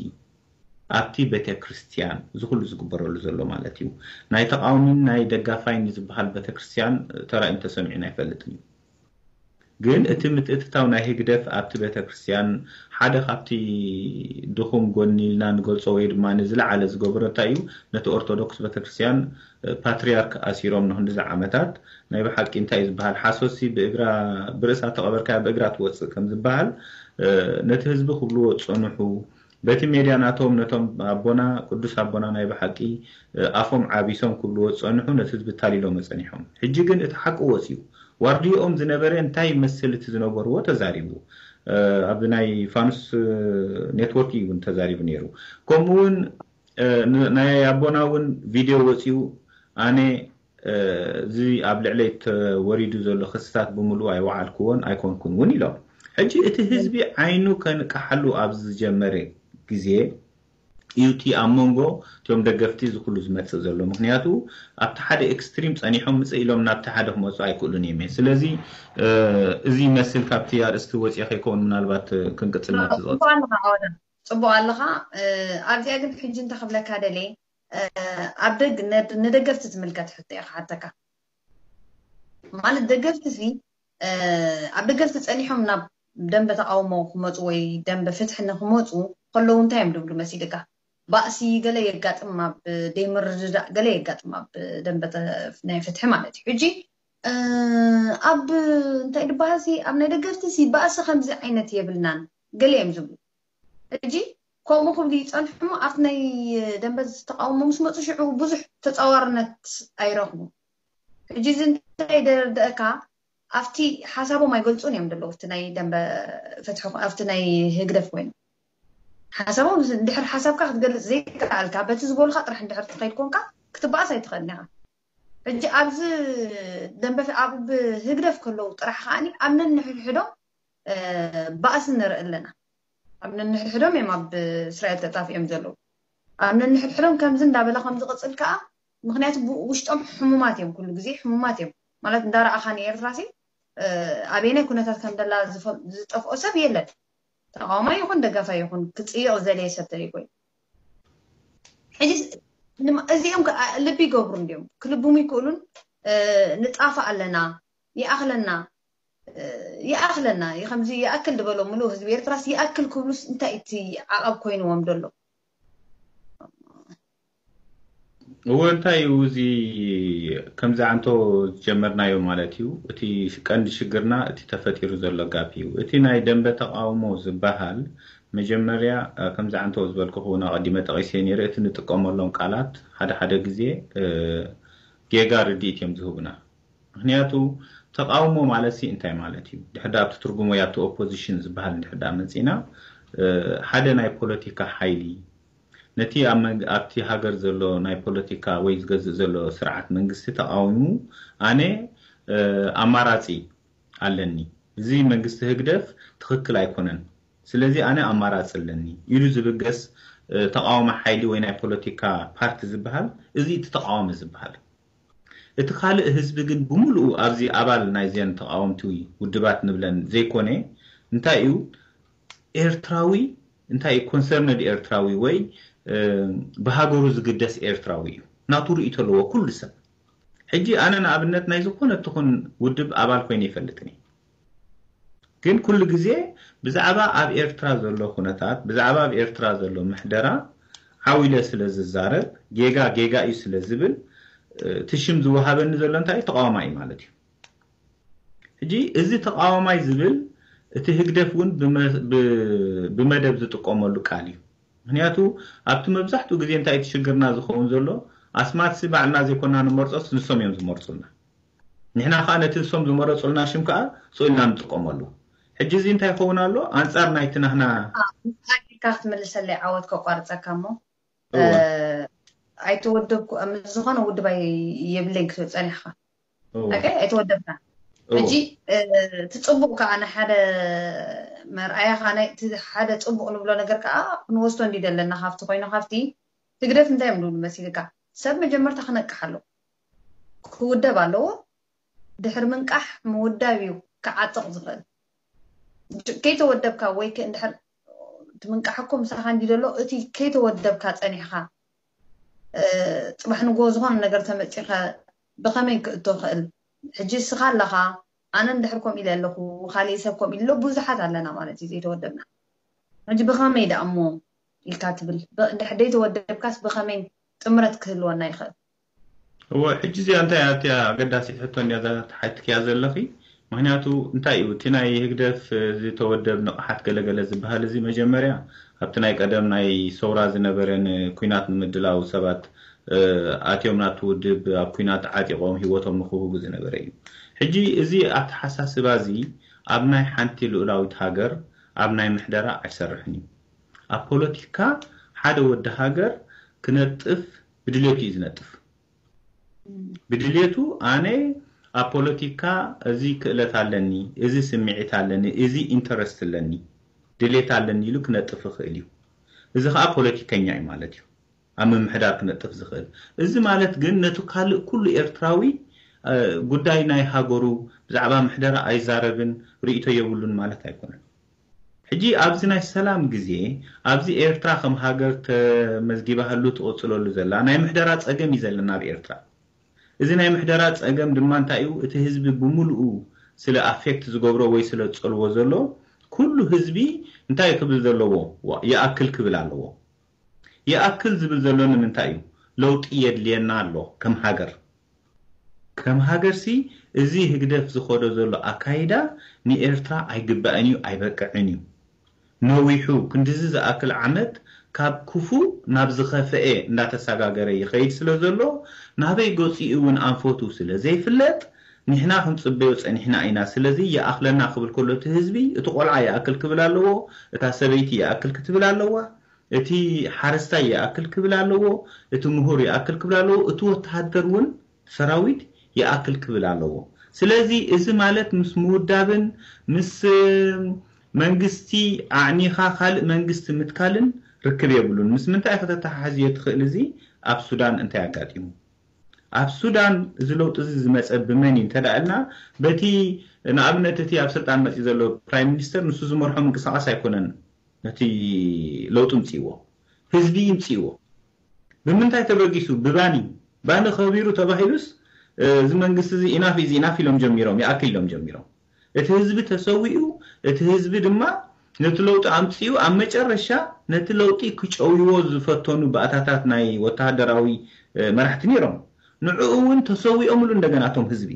ኣብቲ ቤተ ክርስቲያን እዚ ኩሉ ዝግበረሉ ዘሎ ማለት እዩ። ናይ ተቃዋሚን ናይ ደጋፋይን ዝበሃል ቤተ ክርስቲያን ተራእዩን ተሰሚዑን ኣይፈልጥን እዩ። ግን እቲ ምትእትታው ናይ ህግደፍ ኣብቲ ቤተ ክርስቲያን ሓደ ካብቲ ድኹም ጎኒ ኢልና ንገልጾ ወይ ድማ ንዝለዓለ ዝገበሮ እንታይ እዩ? ነቲ ኦርቶዶክስ ቤተ ክርስቲያን ፓትሪያርክ ኣሲሮም ንክንድዚ ዓመታት ናይ ብሓቂ እንታይ እዩ ዝበሃል ሓሶሲ ብእግራ ብርእሳ ተቐበርካያ ብእግራ ትወፅእ ከም ዝበሃል ነቲ ህዝቢ ክብልዎ ዝፀንሑ በቲ ሜድያ ናቶም ነቶም ኣቦና ቅዱስ ኣቦና ናይ ብሓቂ ኣፎም ዓቢሶም ክብልዎ ዝጸንሑ ነቲ ህዝቢ ታሊሎም ጸኒሖም። ሕጂ ግን እቲ ሓቂ ወጽዩ። ዋርድይኦም ዝነበረ እንታይ ይመስል እቲ ዝነበርዎ ተዛሪቡ። ኣብ ናይ ፋኑስ ኔትወርክ እዩ እውን ተዛሪቡ ነይሩ። ከምኡ እውን ናይ ኣቦና እውን ቪድዮ ወፅዩ ኣነ እዚ ኣብ ልዕለይ ተወሪዱ ዘሎ ክስታት ብምሉእ ኣይወዓልክዎን ኣይኮንኩን እውን ኢሎም። ሕጂ እቲ ህዝቢ ዓይኑ ከንቀሓሉ ኣብ ዝጀመረ ግዜ እዩ እቲ ኣብ መንጎ እቶም ደገፍቲ እዚ ኩሉ ዝመፅእ ዘሎ። ምክንያቱ ኣብቲ ሓደ ኤክስትሪም ፀኒሖም ምፅእ ኢሎም ናብቲ ሓደ ክመፁ ኣይክእሉን እዮም። ስለዚ እዚ ይመስል ካብቲ ኣርእስቲ ወፂኦ ከይከውን ምናልባት ክንቅፅል ናብቲ ዝቐፅል። ጽቡቕ ኣለኻ። ኣብዚኣ ግን ሕጂ እንተ ክብለካ ደልየ ኣብ ደግ ንደገፍቲ ትምልከት ሕቶ እየ ክሓተካ። ማለት ደገፍቲ ሲ ኣብ ደገፍቲ ጸኒሖም ናብ ደንበ ተቃውሞ ክመፁ ወይ ደንበ ፍትሒ ንክመፁ ከለዉ እንታይ እዮም ድብሉ መሲልካ? ባእሲ ገለ የጋጥም ኣብ ደይምርድዳእ ገለ የጋጥም ኣብ ደንበ ናይ ፍትሒ ማለት እዩ። ሕጂ ኣብ እንታይ ድበሃል ሲ ኣብ ናይ ደገፍቲ ሲ ባእሲ ከምዚ ዓይነት የብልናን ገለ እዮም ዝብሉ። ሕጂ ከምኡ ክብሉ ይጸንሑ እሞ ኣብቲ ናይ ደንበ ተቃውሞ ምስ መፁ ሽዑ ብዙሕ ተጻዋርነት ኣይረኽቡ። ሕጂ እዚ እንታይ ደርድአካ ኣብቲ ሓሳቦም ኣይገልጹን እዮም ዘለዉ ኣብቲ ናይ ደንበ ፍትሒ ኣብቲ ናይ ህግደፍ ኮይኑ ሓሳቦም እንድሕር ሓሳብካ ክትገልጽ ዘይከኣልካ በቲ ዝበሉካ ጥራሕ እንድሕር ትኸይድ ኮንካ ክትበኣስ ኣይትኽእልን ኢኻ። ሕጂ ኣብዚ ደንበ ኣብ ህግደፍ ከለዉ ጥራሕ ከዓኒ ኣብ ነንሕድሕዶም ባእሲ ንርኢ ኣለና። ኣብ ነንሕድሕዶም እዮም ኣብ እስራኤል ተጣፊኦም ዘለዉ። ኣብ ነንሕድሕዶም ከምዚ እንዳበለ ከም ዝቕጽል ከኣ ምክንያቱ ውሽጦም ሕሙማት እዮም፣ ኩሉ ግዜ ሕሙማት እዮም። ማለት እንዳረኣኻ ንኤርትራ ሲ ኣበየናይ ኩነታት ከም ደላ ዝጠፍኦ ሰብ የለን። ተቃዋማይ ይኹን ደጋፋይ ይኹን ክጽይቕ ዝደለየ ሰብ ተደይኮ እዩ። ሕጂ እዚኦም ልቢ ይገብሩ እንዲዮም ክልብሙ ይክእሉን ንጣፋ ኣለና ይኣኽለና ይኣኽለና ከምዚ ይኣክል ዝበሎ ምሉእ ህዝቢ ኤርትራስ ይኣክል ክብሉስ እንታይ እቲ ዓቐብ ኮይንዎም ዘሎ? እወ እንታይ እዩ እዚ ከምዚ ዓንቶ ዝጀመርናዮ ማለት እዩ። እቲ ቀንዲ ሽግርና እቲ ተፈጢሩ ዘሎ ጋፕ እዩ። እቲ ናይ ደንበ ተቃውሞ ዝበሃል መጀመርያ ከምዚ ዓንቶ ዝበልኩ ክውን ኣቐዲመ ጠቒሰ ነይረ። እቲ ንጥቀመሎም ቃላት ሓደ ሓደ ግዜ ጌጋ ርድኢት እዮም ዝህቡና። ምክንያቱ ተቃውሞ ማለት ሲ እንታይ ማለት እዩ? ድሕር ኣብቲ ትርጉሞ ኣብቲ ኦፖዚሽን ዝበሃል ድሕር መፂና ሓደ ናይ ፖለቲካ ሓይሊ ነቲ ኣብቲ ሃገር ዘሎ ናይ ፖለቲካ ወይ ዝገዝእ ዘሎ ስርዓት መንግስቲ ተቃዊሙ ኣነ ኣማራፂ ኣለኒ፣ እዚ መንግስቲ ህግደፍ ትኽክል ኣይኮነን፣ ስለዚ ኣነ ኣማራፂ ኣለኒ ኢሉ ዝብገስ ተቃዋሚ ሓይሊ ወይ ናይ ፖለቲካ ፓርቲ ዝበሃል እዚ እቲ ተቃዋሚ ዝበሃል። እቲ ካልእ ህዝቢ ግን ብምሉኡ ኣብዚ ኣባል ናይዘን ተቃወምቲ ውድባት ንብለን ዘይኮነ እንታይ እዩ ኤርትራዊ እንታይ እዩ ኮንሰርነድ ኤርትራዊ ወይ ብሃገሩ ዝግደስ ኤርትራዊ እዩ። ናቱ ርእይቶ ኣለዎ ኩሉ ሰብ። ሕጂ ኣነ ንኣብነት ናይ ዝኾነ ትኹን ውድብ ኣባል ኮይነ ይፈልጥን እየ። ግን ኩሉ ግዜ ብዛዕባ ኣብ ኤርትራ ዘሎ ኩነታት ብዛዕባ ኣብ ኤርትራ ዘሎ ምሕደራ ዓው ኢለ ስለ ዝዛረብ ጌጋ ጌጋ እዩ ስለ ዝብል እቲ ሽም ዝወሃበኒ ዘሎ እንታይ እዩ ተቃዋማይ ማለት እዩ። ሕጂ እዚ ተቃዋማይ ዝብል እቲ ህግደፍ እውን ብመደብ ዝጥቀመሉ ቃል እዩ። ምክንያቱ ኣብቲ መብዛሕትኡ ግዜ እንታይ እቲ ሽግርና ዝኸውን ዘሎ ኣስማትሲ ባዕልና ዘይኮና ንመርፆስ ንሶም እዮም ዝመርፁልና። ንሕና ከዓ ነቲ ንሶም ዝመረፁልና ሽም ከዓ ስኢልና ንጥቀመሉ። ሕጂ እዚ እንታይ ይኸውን ኣሎ ኣንፃር ናይቲ ናህና ኢልካ ክትመልሰለይ ዓወት ከቋርፀካ እሞ ኣይተወደብኩ ዝኾነ ውድብ የብለይን ክትብል ፀኒሕካ ኣይተወደብካ ሕጂ እቲ ፅቡቅ ከዓ ንሓደ መርኣያ ከዓ ናይ ሓደ ፅቡቅ ንብሎ ነገር ከዓ ክንወስዶ እንዲ ዘለና ካብቲ ኮይኑ ካብቲ ህግደፍ እንታይ እዮም ንብሉ መሲልካ ሰብ መጀመርታ ክነቅሕ ኣለዎ ክውደብ ኣለዎ ድሕሪ ምንቃሕ ምውዳብ እዩ ክዓጥቕ ዝኽእል። ከይተወደብካ ወይ እንድሕር እቲ ምንቃሕ እኮ ምሳኻ እንዲ ዘሎ እቲ ከይተወደብካ ጸኒሕኻ ጽባሕ ንግሆ ዝኾነ ነገር ተመጺኸ ብኸመይ ክእቶ ክእል? ሕጂ እስኻ ኣለኻ ኣነ እንድሕር ከምኡ ኢለ ኣለኹ ካሊእ ሰብ ከምኡ ኢሉ ብዙሓት ኣለና ማለት እዩ ዘይተወደብና። ሕጂ ብኸመይ ደኣ እሞ ኢልካ ትብል? እንድሕር ዘይተወደብካስ ብኸመይ ጥምረት ክህልወና ይኽእል? እወ ሕጂ እዚኣ እንታይ እያ እቲያ ኣገዳሲት ሕቶ እንድያ እዛ ተሓቲትክያ ዘለኺ ምክንያቱ እንታይ እዩ እቲ ናይ ህግደፍ ዝተወደብ ንቕሓት ገለገለ ዝበሃል እዚ መጀመርያ ኣብቲ ናይ ቀደም ናይ ሰውራ ዝነበረ ንኩናት ንምድላው ሰባት ኣትዮም ናብቲ ውድብ ኣብ ኩናት ዓጢቖም ህይወቶም ንክህቡ ዝነበረ እዩ። ሕጂ እዚ ኣተሓሳስባ እዚ ኣብ ናይ ሓንቲ ልኡላዊት ሃገር ኣብ ናይ ምሕደራ ኣይሰርሕን እዩ። ኣብ ፖለቲካ ሓደ ወዲ ሃገር ክነጥፍ ብድሌቱ እዩ ዝነጥፍ። ብድሌቱ ኣነ ኣብ ፖለቲካ እዚ ክእለት ኣለኒ፣ እዚ ስምዒት ኣለኒ፣ እዚ ኢንተረስት ኣለኒ፣ ድሌት ኣለኒ ኢሉ ክነጥፍ ይኽእል እዩ። እዚ ከዓ ፖለቲከኛ እዩ ማለት እዩ። ኣብ ምምሕዳር ክነጥፍ ዝኽእል እዚ ማለት ግን ነቲ ካልእ ኩሉ ኤርትራዊ ጉዳይ ናይ ሃገሩ ብዛዕባ ምሕደራ ኣይዛረብን ርእይቶ የብሉን ማለት ኣይኮነን። ሕጂ ኣብዚ ናይ ሰላም ግዜ ኣብዚ ኤርትራ ከም ሃገር ተመዝጊባህሉ ትቕጽለሉ ዘላ ናይ ምሕደራ ጸገም እዩ ዘለና ኣብ ኤርትራ። እዚ ናይ ምሕደራ ጸገም ድማ እንታይ እዩ? እቲ ህዝቢ ብምልኡ ስለ ኣፌክት ዝገብሮ ወይ ስለ ዝጸልዎ ዘሎ ኩሉ ህዝቢ እንታይ ክብል ዘለዎ ይኣክል ክብል ኣለዎ። ይኣክል ዝብል ዘሎ ንምንታይ እዩ? ለውጢ የድልየና ኣሎ ከም ሃገር። ከም ሃገርሲ እዚ ህግደፍ ዝኸዶ ዘሎ ኣካይዳ ንኤርትራ ኣይግባእን እዩ፣ ኣይበቅዕን እዩ። ነዊሑ ክንድዚ ዝኣክል ዓመት ካብ ክፉእ ናብ ዝኸፍኤ እንዳተሰጋገረ ይኸይድ ስለ ዘሎ ናበይ ገጺኡ እውን ኣንፈቱ ስለ ዘይፍለጥ ንሕና ክንጽበዮ ጸኒሕና ኢና። ስለዚ ይኣኽለና ክብል ከሎ እቲ ህዝቢ እቲ ቆልዓ ይኣክል ክብል ኣለዎ፣ እታ ሰበይቲ ይኣክል ክትብል ኣለዋ። እቲ ሓረስታይ ይኣክል ክብል ኣለዎ፣ እቲ ምሁር ይኣክል ክብል ኣለዎ፣ እቲ ወተሃደር እውን ሰራዊት ይኣክል ክብል ኣለዎ። ስለዚ እዚ ማለት ምስ ምውዳብን ምስ መንግስቲ ኣዕኒኻ ካልእ መንግስቲ ምትካልን ርክብ የብሉን። ምስ ምንታይ ከተተሓሕዝዮ ትኽእል? እዚ ኣብ ሱዳን እንታይ ኣጋጢሙ? ኣብ ሱዳን እዚ ለውጢ እዚ ዝመፀ ብመን እዩ እንተደኣ ኢልና በቲ ንኣብነት እቲ ኣብ ስልጣን መፂኡ ዘሎ ፕራይም ሚኒስተር ንሱ ዝመርሖ ምንቅስቃስ ኣይኮነን ነቲ ለውጢ ምፅእዎ፣ ህዝቢ እዩ ምፅእዎ። ብምንታይ ተበጊሱ? ብባኒ ባኒ ከቢሩ ተባሂሉስ እዚ መንግስቲ እዚ ኢናፍ ኢዝ ኢናፍ ኢሎም ጀሚሮም ይኣክል ኢሎም ጀሚሮም። እቲ ህዝቢ ተሰዊኡ፣ እቲ ህዝቢ ድማ ነቲ ለውጢ ኣምፅኡ። ኣብ መጨረሻ ነቲ ለውጢ ክጨውይዎ ዝፈተኑ ባእታታት ናይ ወተሃደራዊ መራሕቲ ነይሮም። ንዕኡ እውን ተሰዊኦምሉ እንደገና እቶም ህዝቢ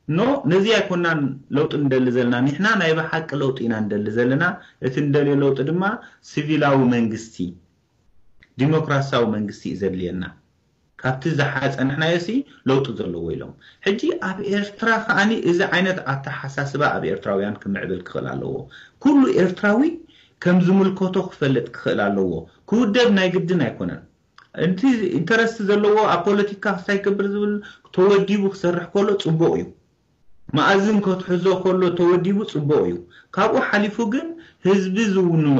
ኖ ነዚ ኣይኮናን ለውጢ ንደሊ ዘለና፣ ንሕና ናይ ብሓቂ ለውጢ ኢና ንደሊ ዘለና። እቲ ንደልዮ ለውጢ ድማ ሲቪላዊ መንግስቲ፣ ዲሞክራሲያዊ መንግስቲ እዩ ዘድልየና። ካብቲ ዝሓፀ ንሕናዮሲ ለውጢ ዘለዎ ኢሎም። ሕጂ ኣብ ኤርትራ ከዓኒ እዚ ዓይነት ኣተሓሳስባ ኣብ ኤርትራውያን ክምዕብል ክኽእል ኣለዎ። ኩሉ ኤርትራዊ ከም ዝምልከቶ ክፈልጥ ክኽእል ኣለዎ። ክውደብ ናይ ግድን ኣይኮነን። እቲ ኢንተረስት ዘለዎ ኣብ ፖለቲካ ክስታይ ክብር ዝብል ተወዲቡ ክሰርሕ ከሎ ፅቡቕ እዩ። መኣዝን ከትሕዞ ከሎ ተወዲቡ ፅቡቕ እዩ። ካብኡ ሓሊፉ ግን ህዝቢ ዝውንኖ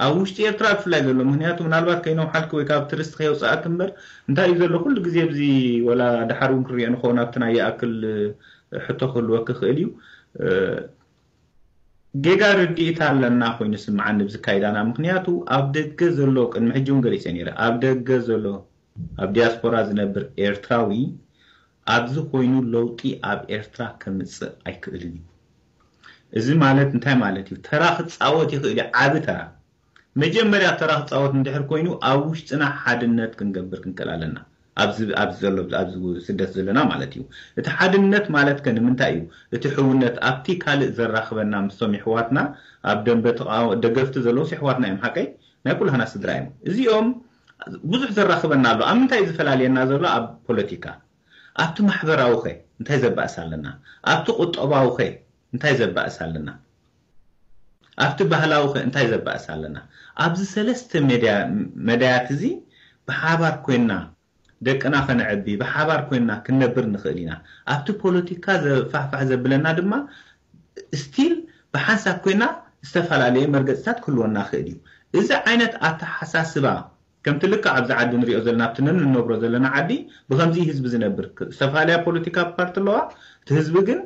ኣብ ውሽጢ ኤርትራ ብፍላይ ዘሎ ምክንያቱ ምናልባት ከይነውሓልክ ወይ ካብ ትርስት ከየውፅኣክ እምበር እንታይ እዩ ዘሎ ኩሉ ግዜ እዚ ወላ ድሓር እውን ክሪኦ ንኸውን ኣብቲ ናይ ይኣክል ሕቶ ክህልወክ ይኽእል እዩ። ጌጋ ርድኢት ኣለና ኮይኑ ስምዓኒ ብዝካይዳና ምክንያቱ ኣብ ደገ ዘሎ ቅድሚ ሕጂ እውን ገሊፀ ነይረ ኣብ ደገ ዘሎ ኣብ ዲያስፖራ ዝነብር ኤርትራዊ ኣብዚ ኮይኑ ለውጢ ኣብ ኤርትራ ከምፅእ ኣይክእልን እዩ። እዚ ማለት እንታይ ማለት እዩ? ተራ ክፃወት ይኽእል እዩ፣ ዓቢ ተራ። መጀመርያ ተራ ክፃወት እንድሕር ኮይኑ ኣብ ውሽጥና ሓድነት ክንገብር ክንክእል ኣለና። ኣብዚ ኣብዚ ዘሎ ኣብዚ ስደት ዘለና ማለት እዩ። እቲ ሓድነት ማለት ከ ንምንታይ እዩ? እቲ ሕውነት ኣብቲ ካልእ ዘራኽበና ምስቶም ይሕዋትና ኣብ ደንበ ተቃወ- ደገፍቲ ዘለውስ ይሕዋትና እዮም ሓቀይ ናይ ኩላህና ስድራ እዮም። እዚኦም ብዙሕ ዘራኽበና ኣሎ። ኣብ ምንታይ እዩ ዝፈላልየና ዘሎ? ኣብ ፖለቲካ። ኣብቲ ማሕበራዊ ኸ እንታይ ዘባእስ ኣለና? ኣብቲ ቁጠባዊ ኸ እንታይ ዘባእስ ኣለና? ኣብቲ ባህላዊ ኸ እንታይ ዘባእስ ኣለና? ኣብዚ ሰለስተ መዳያት እዚ ብሓባር ኮይና ደቅና ከነዕቢ ብሓባር ኮይና ክንነብር ንኽእል ኢና። ኣብቲ ፖለቲካ ዘፋሕፋሕ ዘብለና ድማ ስቲል ብሓንሳብ ኮይና ዝተፈላለየ መርገፅታት ክህልወና ክእል እዩ። እዚ ዓይነት ኣተሓሳስባ ከምቲ ልክዕ ኣብዚ ዓዲ ንሪኦ ዘለና ኣብቲ ነንነብሮ ዘለና ዓዲ ብከምዚ ህዝቢ ዝነብር ዝተፈላለያ ፖለቲካ ፓርቲ ኣለዋ። እቲ ህዝቢ ግን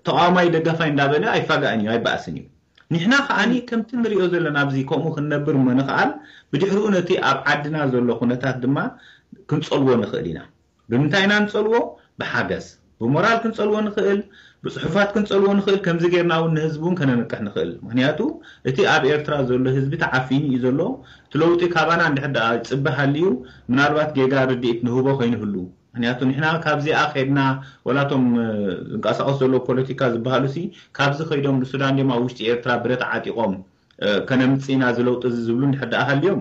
ተቃዋማይ ደጋፋይ እንዳበለ ኣይፋጋእን እዩ ኣይበኣስን እዩ። ንሕና ከዓኒ ከምቲ ንሪኦ ዘለና ኣብዚ ከምኡ ክንነብር እሞ ንኽኣል ብድሕሪኡ ነቲ ኣብ ዓድና ዘሎ ኩነታት ድማ ክንፀልዎ ንኽእል ኢና። ብምንታይ ኢና ንፀልዎ? ብሓገዝ ብሞራል ክንፀልዎ ንኽእል፣ ብፅሑፋት ክንፀልዎ ንኽእል። ከምዚ ጌርና እውን ንህዝቢ እውን ከነንቅሕ ንኽእል። ምክንያቱ እቲ ኣብ ኤርትራ ዘሎ ህዝቢ ተዓፊኑ እዩ ዘሎ። እቲ ለውጢ ካባና እንድሕር ደኣ ይፅበ ሃልዩ ምናልባት ጌጋ ርድኢት ንህቦ ከይንህሉ ምክንያቱ ንሕና ካብዚኣ ከድና፣ ወላቶም ዝንቀሳቀሱ ዘለዉ ፖለቲካ ዝበሃሉ ሲ ካብዚ ከይዶም ንሱዳን ድዮም ኣብ ውሽጢ ኤርትራ ብረት ዓጢቆም ከነምፅእ ኢና ዝለውጢ እዚ ዝብሉ እንድሕር ደኣ ሃልዮም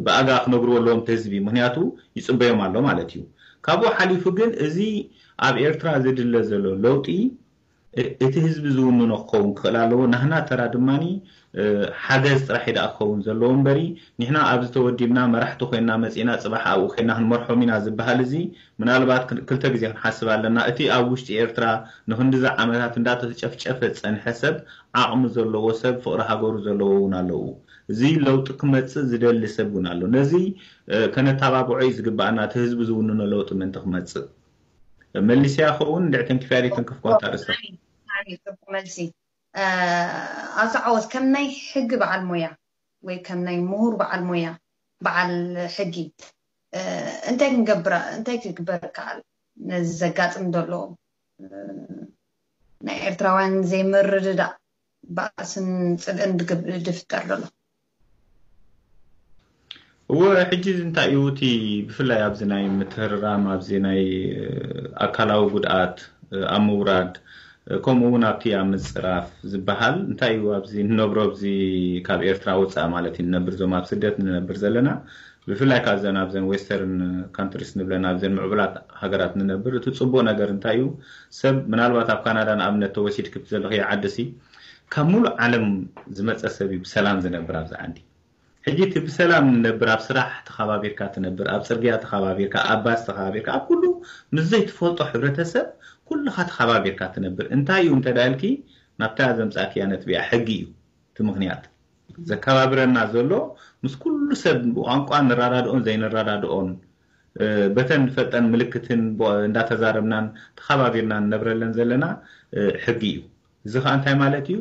ብኣጋ ክነግርዎ ኣለዎም እቲ ህዝቢ። ምክንያቱ ይፅበዮም ኣሎ ማለት እዩ። ካብኡ ሓሊፉ ግን እዚ ኣብ ኤርትራ ዝድለ ዘሎ ለውጢ እቲ ህዝቢ ዝውንኖ ክኸውን ክኽእል ኣለዎ። ናህና ተራ ድማኒ ሓገዝ ጥራሕ ደኣ ክኸውን ዘለዎ እምበሪ፣ ንሕና ኣብዚ ተወዲብና መራሕቲ ኮይና መጺና ጽባሕ ኣብኡ ኮይና ክንመርሖም ኢና ዝበሃል እዚ ምናልባት ክልተ ግዜ ክንሓስብ ኣለና። እቲ ኣብ ውሽጢ ኤርትራ ንክንድዚ ዓመታት እንዳተጨፍጨፈ ዝጸንሐ ሰብ ዓቕሚ ዘለዎ ሰብ፣ ፍቕሪ ሃገሩ ዘለዎ እውን ኣለዉ። እዚ ለውጢ ክመጽእ ዝደሊ ሰብ እውን ኣሎ። ነዚ ከነተባብዖ እዩ ዝግባኣና፣ እቲ ህዝቢ ዝውንኖ ለውጢ ምእንቲ ክመጽእ። መሊስያ ኸውን እንድዒ ተንኪፍያ ደይ ተንከፍክዋ እታ ርእሳ? ጽቡቕ መልሲ። ኣቶ ዓወት፣ ከም ናይ ሕጊ በዓል ሞያ ወይ ከም ናይ ምሁር በዓል ሞያ፣ በዓል ሕጊ፣ እንታይ ክንገብር፣ እንታይ ክግበር ይከኣል? ነዚ ዘጋጥም ዘሎ ናይ ኤርትራውያን ዘይምርድዳእ፣ ባእስን ጽልእን ድፍጠር ዘሎ? እወ፣ ሕጂ እዚ እንታይ እዩ እቲ ብፍላይ ኣብዚ ናይ ምትህርራም፣ ኣብዚ ናይ ኣካላዊ ጉድኣት ኣብ ምውራድ፣ ከምኡ እውን ኣብቲ ኣብ ምጽራፍ ዝበሃል እንታይ እዩ ኣብዚ ንነብሮ ኣብዚ ካብ ኤርትራ ወጻኢ ማለት እዩ ንነብር እዞም ኣብ ስደት ንነብር ዘለና ብፍላይ ካብ ዘን ኣብዘን western countries ንብለን ኣብዘን ምዕቡላት ሃገራት ንነብር እቲ ጽቡቅ ነገር እንታይ እዩ ሰብ ምናልባት ኣብ ካናዳ ንኣብነት ተወሲድኪ ዘለኽዮ ዓዲ ሲ ካብ ሙሉእ ዓለም ዝመጸ ሰብ እዩ ብሰላም ዝነብር ኣብዚ ዓዲ ሕጂ እቲ ብሰላም ንነብር ኣብ ስራሕ ተኸባቢርካ ትነብር ኣብ ጽርግያ ተኸባቢርካ ኣብ ባስ ተኸባቢርካ ኣብ ኩሉ ምስ ዘይትፈልጦ ሕብረተሰብ ኩልኻ ተኸባቢርካ ትነብር እንታይ እዩ እንተ ኢልኪ ናብታ ዘምጻእክያ ነጥቢ እያ ሕጊ እዩ እቲ ምኽንያት ዘከባብረና ዘሎ ምስ ኩሉ ሰብ ብቋንቋ ንረዳድኦን ዘይንረዳድኦን በተን ንፈልጠን ምልክትን እንዳተዛረብናን ተኸባቢርና ንነብረለን ዘለና ሕጊ እዩ። እዚ ከዓ እንታይ ማለት እዩ?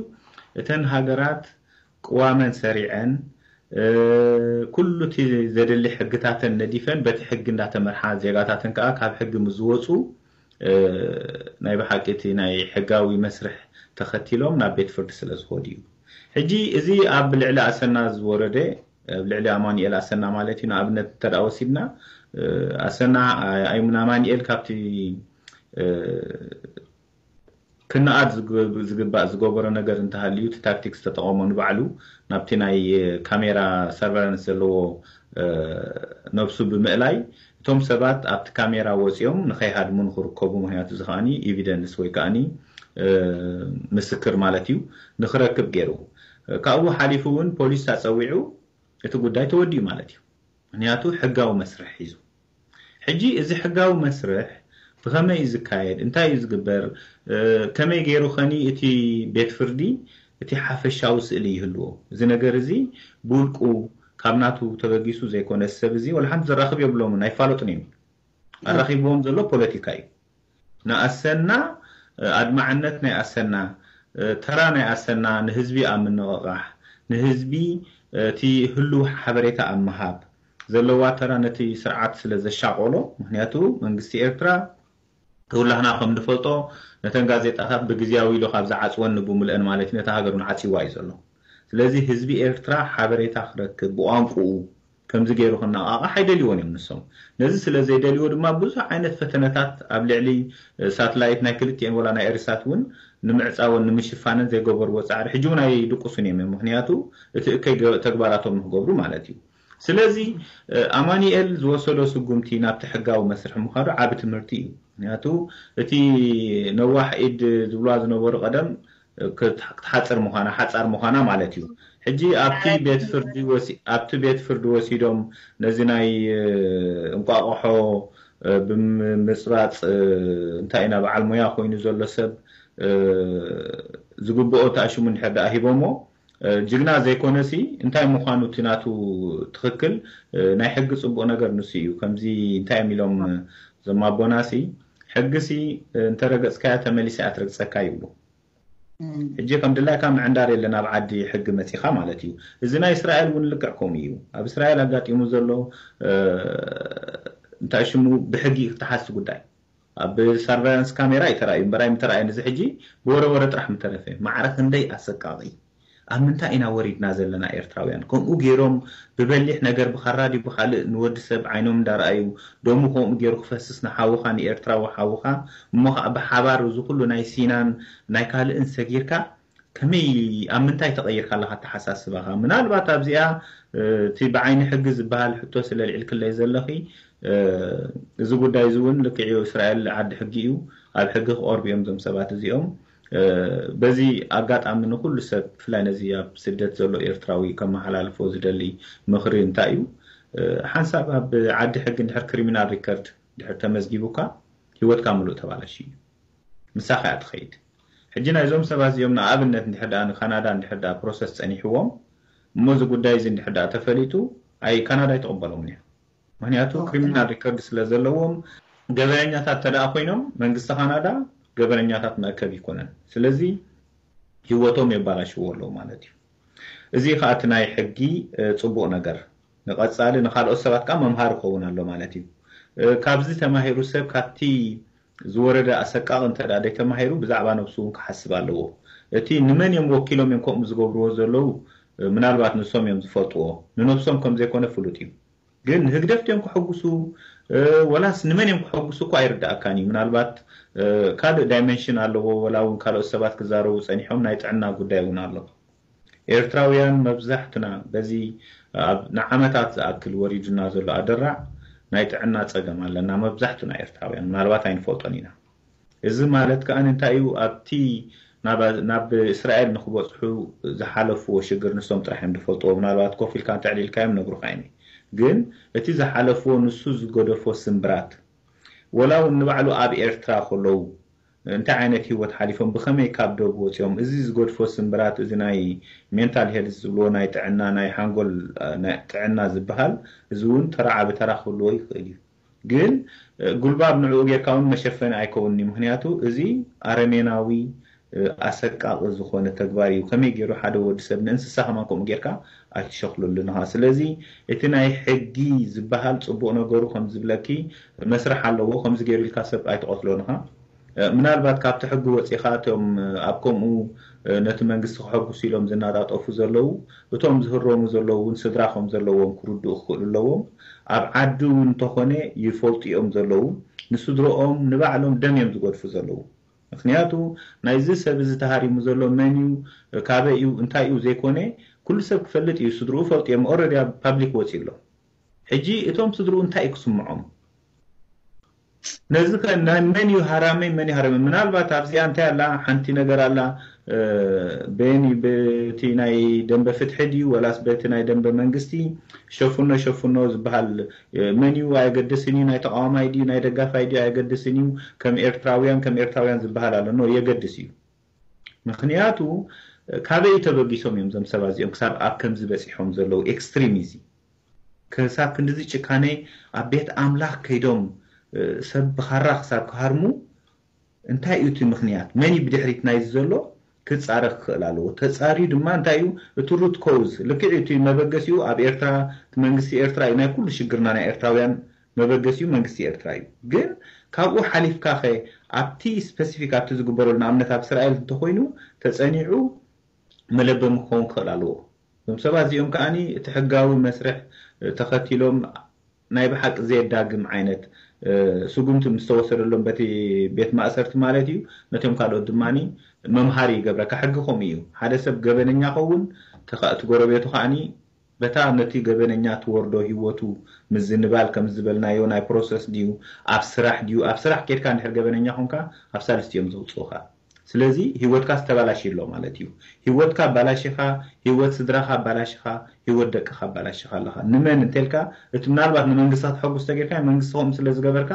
እተን ሃገራት ቅዋመን ሰሪዐን ኩሉ እቲ ዘድሊ ሕግታተን ነዲፈን በቲ ሕጊ እንዳተመርሓ ዜጋታተን ከዓ ካብ ሕጊ ምስ ዝወፁ ናይ ብሓቂ እቲ ናይ ሕጋዊ መስርሕ ተኸቲሎም ናብ ቤት ፍርዲ ስለ ዝኸዱ እዩ። ሕጂ እዚ ኣብ ልዕሊ ኣሰና ዝወረደ ኣብ ልዕሊ ኣማኑኤል ኣሰና ማለት እዩ ንኣብነት እንተደኣ ወሲድና ኣሰና ኣይሙን ኣማኑኤል ካብቲ ክነኣድ ዝግባእ ዝገበሮ ነገር እንተሃልዩ እቲ ታክቲክ ዝተጠቐሞ ንባዕሉ ናብቲ ናይ ካሜራ surveillance ዘለዎ ነብሱ ብምእላይ እቶም ሰባት ኣብቲ ካሜራ ወፂኦም ንኸይሃድሙ ንክርከቡ ምክንያቱ እዚ ከዓኒ evidence ወይ ከዓኒ ምስክር ማለት እዩ ንክረክብ ገይሩ ካብኡ ሓሊፉ እውን ፖሊስ ኣፀዊዑ እቲ ጉዳይ ተወዲኡ ማለት እዩ ምክንያቱ ሕጋዊ መስርሕ ሒዙ ሕጂ እዚ ሕጋዊ መስርሕ ብኸመይ እዩ ዝካየድ እንታይ እዩ ዝግበር ከመይ ገይሩ ኸኒ እቲ ቤት ፍርዲ እቲ ሓፈሻዊ ስእሊ ይህልዎ እዚ ነገር እዚ ብውልቁ ካብ ናቱ ተበጊሱ ዘይኮነ ሰብ እዚ ወላ ሓንቲ ዘራኽብ የብሎምን ኣይፋለጡን እዮም ኣራኺብዎም ዘሎ ፖለቲካ እዩ ንኣሰና ኣድማዕነት ናይ ኣሰና ተራ ናይ ኣሰና ንህዝቢ ኣብ ምንቕቓሕ ንህዝቢ እቲ ህሉው ሓበሬታ ኣብ ምሃብ ዘለዋ ተራ ነቲ ስርዓት ስለ ዘሻቆሎ ምክንያቱ መንግስቲ ኤርትራ ተውላህና ከም ንፈልጦ ነተን ጋዜጣታት ብግዜያዊ ኢሉ ካብ ዝዓፅወን ንብምልአን ማለት እዩ ነታ ሃገር እውን ዓፂዋ እዩ ዘሎ ስለዚ ህዝቢ ኤርትራ ሓበሬታ ክረክብ ብቋንቁኡ ከምዚ ገይሩ ክነቓቓሕ ኣይደልይዎን እዮም ንሶም ነዚ ስለ ዘይደልይዎ ድማ ብዙሕ ዓይነት ፈተነታት ኣብ ልዕሊ ሳትላይት ናይ ክልቲኤን ወላ ናይ ኤሪሳት እውን ንምዕፃወን ንምሽፋንን ዘይገበርዎ ፃዕሪ ሕጂ እውን ኣይድቅሱን እዮም ምክንያቱ እቲ እከይ ተግባራቶም ንክገብሩ ማለት እዩ ስለዚ ኣማኒኤል ዝወሰዶ ስጉምቲ ናብቲ ሕጋዊ መስርሒ ምኻዱ ዓቢ ትምህርቲ እዩ ምክንያቱ እቲ ነዋሕ ኢድ ዝብልዋ ዝነበሩ ቀደም ክትሓፅር ምዃና ሓፃር ምዃና ማለት እዩ ሕጂ ኣብቲ ቤት ፍርዲ ኣብቲ ቤት ፍርዲ ወሲዶም ነዚ ናይ እንቋቆሖ ብምምፅባፅ እንታይ ኢና በዓል ሙያ ኮይኑ ዘሎ ሰብ ዝግብኦ ተኣሽሙ እንድሕር ደኣ ሂቦሞ ጅግና ዘይኮነሲ እንታይ ምዃኑ እቲ ናቱ ትኽክል ናይ ሕጊ ፅቡቕ ነገር ንሱ እዩ ከምዚ እንታይ እዮም ኢሎም ዘማቦናሲ ሕግሲ እንተረገፅካያ ተመሊሳ እያ ትረግፀካ ይብሉ ሕጂ ከም ድላይካ ምዕንዳር የለን ኣብ ዓዲ ሕጊ መፂኻ ማለት እዩ እዚ ናይ እስራኤል እውን ልክዕ ከምኡ እዩ ኣብ እስራኤል ኣጋጢሙ ዘሎ እንታይ ሽሙ ብሕጊ ክተሓዝቲ ጉዳይ ኣብ surveillance ካሜራ ይተራእዩ እምበራይ ምተራእየን እዚ ሕጂ ብወረ ወረ ጥራሕ ምተረፈ ማዕረ ክንደይ ኣሰቃቂ ኣብ ምንታይ ኢና ወሪድና ዘለና ኤርትራውያን? ከምኡ ገይሮም ብበሊሕ ነገር ብኻራ ድዩ ብኻልእ ንወዲ ሰብ ዓይኖም እንዳረኣዩ ደሙ ከምኡ ገይሩ ክፈስስ ንሓውኻ ንኤርትራዊ ሓውኻ እሞ ከዓ ብሓባር እዚ ኩሉ ናይ ሲናን ናይ ካልእን ሰጊርካ ከመይ ኣብ ምንታይ ተቐይርካ ኣለኻ ኣተሓሳስባኻ? ምናልባት ኣብዚኣ እቲ ብዓይኒ ሕጊ ዝበሃል ሕቶ ስለ ልዕልክለይ ዘለኺ እዚ ጉዳይ እዚ እውን ልክዕ እዩ። እስራኤል ዓዲ ሕጊ እዩ። ኣብ ሕጊ ክቐርቡ እዮም እዞም ሰባት እዚኦም። በዚ ኣጋጣሚ ንኩሉ ሰብ ብፍላይ ነዚ ኣብ ስደት ዘሎ ኤርትራዊ ከመሓላልፎ ዝደሊ ምኽሪ እንታይ እዩ? ሓንሳብ ኣብ ዓዲ ሕጊ እንድሕር ክሪሚናል ሪከርድ ድሕር ተመዝጊቡካ ህይወትካ ምሉእ ተባላሽ እዩ። ምሳኻ እያ ትኸይድ። ሕጂ ናይዞም ሰባት እዚኦም ንኣብነት እንድሕር ደኣ ንካናዳ እንድሕር ደኣ ፕሮሰስ ጸኒሕዎም እሞ እዚ ጉዳይ እዚ እንድሕር ደኣ ተፈሊጡ ኣይ ካናዳ ኣይትቕበሎምን እያ። ምክንያቱ ክሪሚናል ሪከርድ ስለ ዘለዎም ገበነኛታት ተደኣ ኮይኖም መንግስቲ ካናዳ ገበነኛታት መእከብ ይኮነን። ስለዚ ህይወቶም የባላሽዎ ኣለዉ ማለት እዩ። እዚ ከዓ እቲ ናይ ሕጊ ጽቡቕ ነገር ንቐጻሊ ንካልኦት ሰባት ከዓ መምሃር ይኸውን ኣሎ ማለት እዩ። ካብዚ ተማሂሩ ሰብ ካብቲ ዝወረደ ኣሰቃቕ እንተ ደኣ ደይተማሂሩ ብዛዕባ ነብሱ እውን ክሓስብ ኣለዎ። እቲ ንመን እዮም ወኪሎም እዮም ከምኡ ዝገብርዎ ዘለዉ ምናልባት ንሶም እዮም ዝፈልጥዎ። ንነብሶም ከም ዘይኮነ ፍሉጥ እዩ። ግን ንህግደፍ ድዮም ክሕጉሱ ወላስ ንመን እዮም ክሕጉሱ እኳ ኣይርዳእካን እዩ። ምናልባት ካልእ ዳይመንሽን ኣለዎ። ወላ እውን ካልኦት ሰባት ክዛረቡ ጸኒሖም ናይ ጥዕና ጉዳይ እውን ኣሎ። ኤርትራውያን መብዛሕትና በዚ ንዓመታት ዝኣክል ወሪዱና ዘሎ ኣደራዕ ናይ ጥዕና ጸገም ኣለና። መብዛሕትና ኤርትራውያን ምናልባት ኣይንፈልጦን ኢና። እዚ ማለት ከዓ እንታይ እዩ? ኣብቲ ናብ እስራኤል ንክበፅሑ ዝሓለፍዎ ሽግር ንሶም ጥራሕ እዮም ዝፈልጥዎ። ምናልባት ኮፍ ኢልካ እንተዕሊልካዮም ነግሩካ እዮም። ግን እቲ ዝሓለፍዎ ንሱ ዝገደፎ ስምብራት ወላ እውን ንባዕሉ ኣብ ኤርትራ ከለዉ እንታይ ዓይነት ህይወት ሓሊፎም ብኸመይ ካብ ዶብ ወፂኦም እዚ ዝገድፎ ስምብራት እዚ ናይ ሜንታል ሄልዝ ዝብልዎ ናይ ጥዕና ናይ ሓንጎል ጥዕና ዝበሃል እዚ እውን ተራ ዓቢ ተራ ክህልዎ ይኽእል እዩ። ግን ጉልባብ ንዕኡ ጌርካ እውን መሸፈኒ ኣይከውንን እዩ። ምክንያቱ እዚ ኣረሜናዊ ኣሰቃቂ ዝኾነ ተግባር እዩ። ከመይ ገይሩ ሓደ ወዲ ሰብ ንእንስሳ ከማን ከምኡ ጌርካ ኣይትሸክለሉን ኢኻ። ስለዚ እቲ ናይ ሕጊ ዝበሃል ጽቡቕ ነገሩ ከም ዝብለኪ መስርሕ ኣለዎ። ከምዚ ገይሩ ኢልካ ሰብ ኣይትቐትሎን ኢኻ። ምናልባት ካብቲ ሕጊ ወፂኻ እቶም ኣብ ከምኡ ነቲ መንግስቲ ክሐጉሱ ኢሎም ዝናጣጠፉ ዘለዉ እቶም ዝህረሙ ዘለዉ እውን ስድራ ከም ዘለዎም ክርድኡ ክኽእሉ ኣለዎም። ኣብ ዓዲ እውን እንተኾነ ይፈልጡ እዮም ዘለዉ ንስድረኦም ንባዕሎም ደም እዮም ዝገድፉ ዘለዉ። ምክንያቱ ናይዚ ሰብ እዚ ተሃሪሙ ዘሎ መን እዩ ካበይ እዩ እንታይ እዩ ዘይኮነ ኩሉ ሰብ ክፈልጥ እዩ። ስድርኡ ፈልጡ እዮም። ኦረዲ ኣብ ፓብሊክ ወፂ ኣሎ። ሕጂ እቶም ስድርኡ እንታይ እዩ ክስምዖም? ነዚ ከ ናይ መን እዩ ሃራመይ መን እዩ ሃረመ? ምናልባት ኣብዚኣ እንታይ ኣላ ሓንቲ ነገር ኣላ በየን በቲ ናይ ደንበ ፍትሒ ድዩ ወላስ በቲ ናይ ደንበ መንግስቲ ሸፍኖ ሸፍኖ ዝበሃል መን እዩ ኣየገድስን እዩ። ናይ ተቃዋማይ ድዩ ናይ ደጋፋይ ድዩ ኣየገድስን እዩ። ከም ኤርትራውያን ከም ኤርትራውያን ዝበሃል ኣሎ ኖ የገድስ እዩ። ምክንያቱ ካበይ ተበጊሶም እዮም እዞም ሰባት እዚኦም ክሳብ ኣብ ከምዚ በፂሖም ዘለዉ ኤክስትሪሚዚ ክሳብ ክንድዚ ጭካኔ ኣብ ቤት ኣምላኽ ከይዶም ሰብ ብኻራ ክሳብ ክሃርሙ እንታይ እዩ እቲ ምክንያት? መን እዩ ብድሕሪት ናይዚ ዘሎ? ክጻረ ክኽእል ኣለዎ። ተጻርዩ ድማ እንታይ እዩ እቲ ሩት ኮውዝ? ልክዕ እዩ እቲ መበገሲኡ ኣብ ኤርትራ እቲ መንግስቲ ኤርትራ እዩ ናይ ኩሉ ሽግርና ናይ ኤርትራውያን መበገሲኡ መንግስቲ ኤርትራ እዩ። ግን ካብኡ ሓሊፍካ ኸ ኣብቲ ስፐሲፊክ ኣብቲ ዝግበረሉ ንኣብነት ኣብ እስራኤል እንተኮይኑ ተጸኒዑ መለበሚ ክኸውን ክኽእል ኣለዎ። እዞም ሰባት እዚኦም ከዓኒ እቲ ሕጋዊ መስርሕ ተኸቲሎም ናይ ብሓቂ ዘየዳግም ዓይነት ስጉምቲ ምስ ተወሰደሎም በቲ ቤት ማእሰርቲ ማለት እዩ ነቶም ካልኦት ድማ መምሃሪ ይገብረካ። ሕጊ ከምኡ እዩ። ሓደ ሰብ ገበነኛ ከውን እቲ ጎረቤቱ ከዓኒ በታ ነቲ ገበነኛ ትወርዶ ህይወቱ ምዝንባል ከም ዝበልናዮ ናይ ፕሮሰስ ድዩ ኣብ ስራሕ ድዩ ኣብ ስራሕ ኬድካ እንድሕር ገበነኛ ኮንካ ኣብ ሳልስቲ እዮም ዘውፅኡካ። ስለዚ ህይወትካ ዝተባላሽ ኣሎ ማለት እዩ። ህይወትካ ኣባላሽኻ፣ ህይወት ስድራኻ ኣባላሽኻ፣ ህይወት ደቅኻ ኣባላሽኻ ኣለኻ። ንመን እንተልካ እቲ ምናልባት ንመንግስቲ ከተሐጉስ ተጌርካ መንግስቲ ከምኡ ስለ ዝገበርካ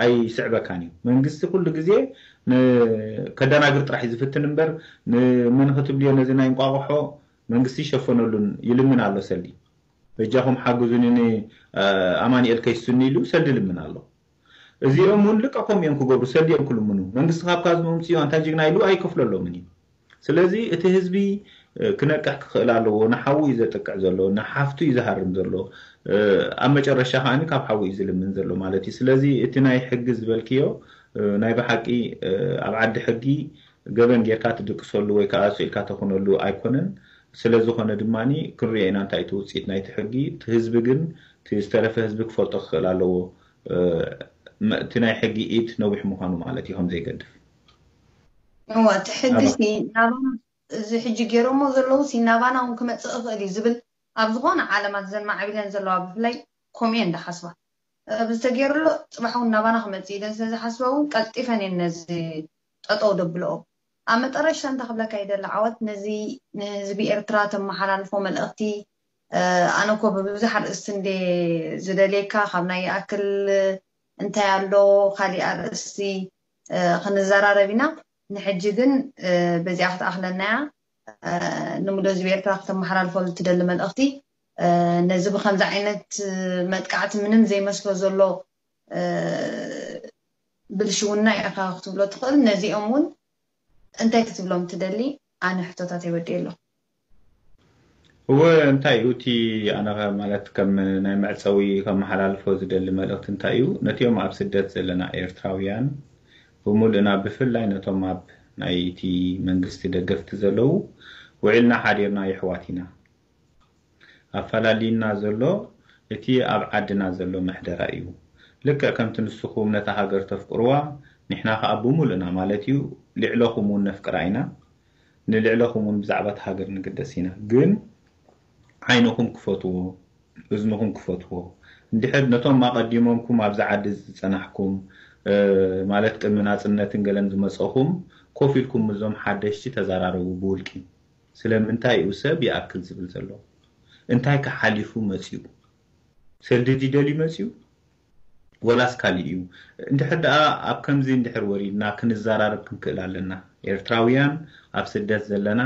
ኣይስዕበካን እዩ። መንግስቲ ኩሉ ግዜ ከደናግር ጥራሕ እዩ ዝፍትን እምበር ንመን ክትብልዮ ነዚ ናይ እንቋቑሖ መንግስቲ ይሸፈነሉን ይልምን ኣሎ ሰልዲ። በጃኹም ሓግዙኒ ንኣማኒኤል ከይስኒ ኢሉ ሰልዲ ልምን ኣሎ። እዚኦም እውን ልቀቆም እዮም ክገብሩ ሰልዲ እዮም ክልምኑ። መንግስቲ ካብ ካዝንኡ ምፅኡ ኣንታ ጅግና ኢሉ ኣይከፍለሎምን እዩ። ስለዚ እቲ ህዝቢ ክነቅሕ ክኽእል ኣለዎ። ንሓዉ እዩ ዘጥቅዕ ዘሎ፣ ንሓፍቱ እዩ ዝሃርም ዘሎ። ኣብ መጨረሻ ከዓኒ ካብ ሓዉ እዩ ዝልምን ዘሎ ማለት እዩ። ስለዚ እቲ ናይ ሕጊ ዝበልክዮ ናይ ብሓቂ ኣብ ዓዲ ሕጊ ገበን ጌርካ ትድቅሰሉ ወይ ከዓ ስኢልካ ተኹነሉ ኣይኮነን። ስለ ዝኾነ ድማ ክንሪኦ ኢና እንታይ እቲ ውፅኢት ናይቲ ሕጊ። እቲ ህዝቢ ግን፣ እቲ ዝተረፈ ህዝቢ ክፈልጦ ክኽእል ኣለዎ፣ እ፣ መ-፣ እቲ ናይ ሕጊ ኢድ ነዊሕ ምዃኑ ማለት እዩ፣ ከም ዘይገድፍ። እዋ፣ እቲ ሕጊ ሲ ናባና፣ እዚ ሕጂ ገይሮሞ ዘለዉ ሲ ናባና እውን ክመፅእ ይኽእል እዩ ዝብል ኣብ ዝኾነ ዓለማት ዘን ማዕቢለን ዘለዋ ብፍላይ ከምኡ እየን ዝሓስባ። እ፣ ብዝተገይርሎ ፅባሕ እውን ናባና ክመፅእ ኢለን ስለ ዝሓስባ እውን ቀልጢፈን እየን ነዚ ጠጠው ደብለኦ። ኣብ መጠረሽታ እንታይ ክብለካ ይደሊ ዓወት፣ ነዚ ንህዝቢ ኤርትራ ተመሓላልፎ መልእኽቲ፣ እ፣ ኣነ እኮ ብብዙሕ ኣርእስቲ እንደ ዝደልየካ ካብ ናይ ይኣክል እንታይ ኣሎ ካሊእ ኣርእስቲ፣ እ፣ ክንዘራረብ ኢና። ንሕጂ ግን፣ እ፣ በዚኣ ክትኣኽለና እያ። እ፣ ንምሉእ ህዝቢ ኤርትራ ክተመሓላልፈሉ ትደሊ መልእኽቲ፣ እ፣ ነዚ ብከምዚ ዓይነት መጥቃዕቲ ምንም ዘይመስሎ ዘሎ፣ እ፣ ብልሽውና ኢኻ ክትብሎ ትኽእል። ነዚኦም እውን እንታይ ክትብሎም ትደሊ? ኣነ ሕቶታት ይወዲእ ኣለኹ። እወ፣ እንታይ እዩ እቲ ኣነ ከ-፣ ማለት ከም ናይ መዕጸዊ ከመሓላልፎ ዝደሊ መልእኽቲ እንታይ እዩ? ነቲኦም ኣብ ስደት ዘለና ኤርትራውያን ብምሉእና፣ ብፍላይ ነቶም ኣብ ናይቲ መንግስቲ ደገፍቲ ዘለዉ፣ ውዒልና ሓዲርና የሕዋት ኢና። ኣፈላልይና ዘሎ እቲ ኣብ ዓድና ዘሎ ምሕደራ እዩ። ልክዕ ከምቲ ንስኹም ነታ ሃገር ተፍቅርዋ፣ ንሕና ከኣ ብምሉእና ማለት እዩ፣ ልዕለኹም እውን ነፍቅራ ኢና። ንልዕለኹም እውን ብዛዕባ እታ ሃገር ንግደስ ኢና። ግን ዓይንኹም ክፈትዎ፣ እዝንኹም ክፈትዎ። እንድሕር ነቶም ኣቐዲሞምኩም ኣብዚ ዓዲ ዝጸናሕኩም፣ እ፣ ማለት ቅድሚ ናጽነትን ገለን ዝመጸኹም፣ ኮፍ ኢልኩም ምስዞም ሓደሽቲ ተዘራረቡ ብውልቂ። ስለምንታይ እዩ ሰብ ይኣክል ዝብል ዘሎ? እንታይ ከሓሊፉ መጺኡ? ሰልዲ ድዩ ደልዩ መጺኡ? ወላስ ካሊእ እዩ? እንድሕር ደኣ ኣብ ከምዚ እንድሕር ወሪድና ክንዘራረብ ክንክእል ኣለና። ኤርትራውያን ኣብ ስደት ዘለና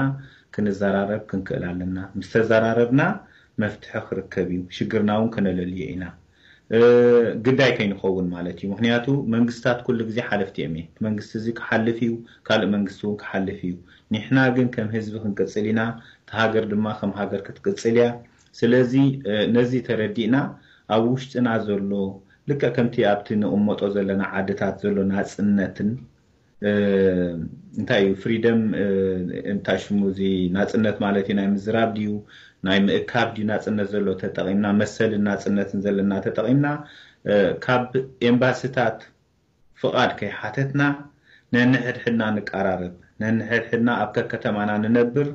ክንዘራረብ ክንክእል ኣለና። ምስ ተዘራረብና መፍትሒ ክርከብ እዩ። ሽግርና እውን ከነለልዮ ኢና። እ፣ ግዳይ ከይንኸውን ማለት እዩ። ምኽንያቱ መንግስታት ኩሉ ግዜ ሓለፍቲ እዮም። እቲ መንግስቲ እዚ ክሓልፍ እዩ፣ ካልእ መንግስቲ እውን ክሓልፍ እዩ። ንሕና ግን ከም ህዝቢ ክንቅጽል ኢና። እታ ሃገር ድማ ከም ሃገር ክትቅጽል እያ። ስለዚ፣ እ፣ ነዚ ተረዲእና ኣብ ውሽጥና ዘሎ ልክዕ ከምቲ ኣብቲ ንቕመጦ ዘለና ዓድታት ዘሎ ናጽነትን፣ እ፣ እንታይ እዩ ፍሪደም፣ እ፣ እንታይ ሽሙ እዚ ናጽነት ማለት እዩ፣ ናይ ምዝራብ ድዩ ናይ ምእካብ ድዩ ናጽነት ዘሎ ተጠቒምና፣ መሰልን ናጽነትን ዘለና ተጠቒምና፣ እ፣ ካብ ኤምባሲታት ፍቓድ ከይሓተትና ነንሕድሕድና ንቀራረብ፣ ነንሕድሕድና ኣብ ከከተማና ንነብር፣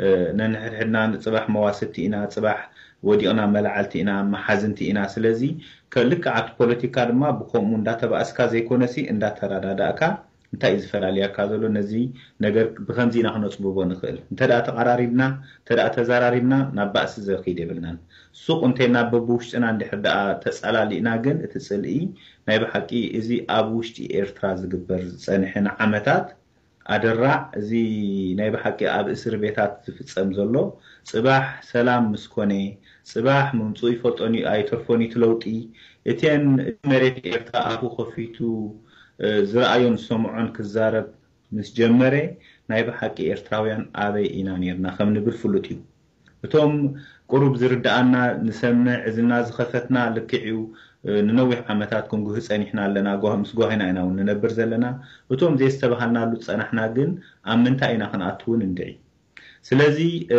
እ፣ ነንሕድሕድና ንጽባሕ መዋስድቲ ኢና፣ ጽባሕ ወዲቕና መላዕልቲ ኢና፣ መሓዝንቲ ኢና። ስለዚ ከ-፣ ልክዕ ኣብቲ ፖለቲካ ድማ ብኸምኡ እንዳተባእስካ ዘይኮነሲ እንዳተረዳዳእካ እንታይ እዩ ዝፈላልያካ ዘሎ? ነዚ ነገር ብኸምዚ ኢና ክነጽብቦ ንኽእል። እንተ ደኣ ተቐራሪብና፣ እንተ ደኣ ተዘራሪብና ናብ ባእሲ ዘርኪድ የብልናን። ሱቕ እንተይና በብውሽጥና እንድሕር ደኣ ተጸላሊእና ግን እቲ ጽልኢ ናይ ብሓቂ እዚ ኣብ ውሽጢ ኤርትራ ዝግበር ዝጸንሐ ንዓመታት ኣደራዕ፣ እዚ ናይ ብሓቂ ኣብ እስር ቤታት ዝፍጸም ዘሎ፣ ጽባሕ ሰላም ምስ ኮነ፣ ጽባሕ ምምጽኡ ይፈልጦን እዩ ኣይተርፎን እዩ እቲ ለውጢ። እተን እቲ መሬት ኤርትራ ኣፉ ከፊቱ፣ እ፣ ዝረኣዮን ዝሰምዖን ክዛረብ ምስ ጀመረ፣ ናይ ብሓቂ ኤርትራውያን ኣበይ ኢና ኔርና ከም ንብል ፍሉጥ እዩ። እቶም ቁሩብ ዝርድኣና፣ ንሰምዕ፣ እዝንና ዝኸፈትና ልክዕ እዩ፣ እ፣ ንነዊሕ ዓመታት ክንጉሂ ጸኒሕና ኣለና፣ ጓህ-፣ ምስ ጓሂና ኢና እውን ንነብር ዘለና። እቶም ዘየስተባሃልናሉ ዝጸናሕና ግን ኣብ ምንታይ ኢና ክንኣቱ እውን እንድዒ። ስለዚ፣ እ፣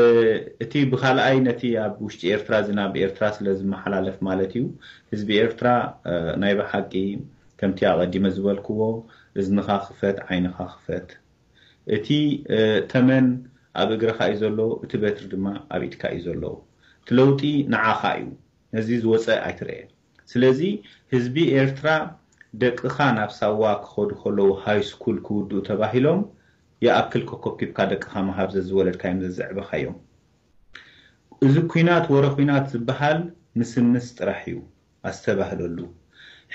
እቲ ብኻልኣይ ነቲ ኣብ ውሽጢ ኤርትራ እዚ ናብ ኤርትራ ስለ ዝመሓላለፍ ማለት እዩ፣ ህዝቢ ኤርትራ፣ እ፣ ናይ ብሓቂ ከምቲ ኣቐዲመ ዝበልክዎ፣ እዝንኻ ክፈት፣ ዓይንኻ ክፈት። እቲ፣ እ፣ ተመን ኣብ እግርኻ እዩ ዘሎ፣ እቲ በትሪ ድማ ኣብ ኢድካ እዩ ዘሎ። እቲ ለውጢ ንዓኻ እዩ። ነዚ ዝወጸ ኣይትርኤ። ስለዚ ህዝቢ ኤርትራ፣ ደቅኻ ናብ ሳዋ ክኸዱ ከለዉ፣ ሃይ ስኩል ክውድኡ ተባሂሎም፣ ይኣክል ከኮብኪብካ ደቅኻ ምሃብ ዘዝወለድካዮም ዘዝዕበኻዮም። እዚ ኲናት ወረ ኲናት ዝበሃል ምስምስ ጥራሕ እዩ። ኣስተባህለሉ።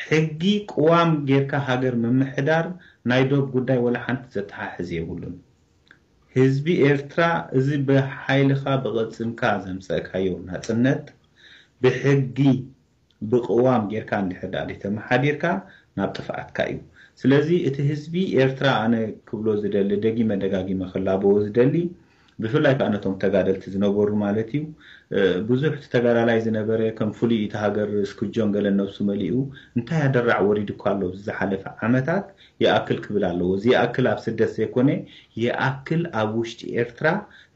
ሕጊ ቅዋም ጌርካ ሃገር ምምሕዳር ናይ ዶብ ጉዳይ ወላ ሓንቲ ዘተሓሕዝ የብሉን። ህዝቢ ኤርትራ፣ እዚ ብሓይልኻ ብቕልጽምካ ዘምጸእካዮ ናጽነት ብሕጊ ብቅዋም ጌርካ እንድሕር ደኣ ተመሓዲርካ ናብ ጥፍኣትካ እዩ። ስለዚ እቲ ህዝቢ ኤርትራ ኣነ ክብሎ ዝደሊ፣ ደጊመ ደጋጊመ ክላበዎ ዝደሊ፣ ብፍላይ ከዓ ነቶም ተጋደልቲ ዝነበሩ ማለት እዩ። ብዙሕ ተጋዳላይ ዝነበረ ከም ፍሉይ እቲ ሃገር ስክጆን ገለ ነብሱ መሊኡ እንታይ ኣደራዕ ወሪዱ እኳ ኣሎ ዝሓለፈ ዓመታት ይኣክል ክብል ኣለዎ። እዚ ይኣክል ኣብ ስደት ዘይኮነ ይኣክል ኣብ ውሽጢ ኤርትራ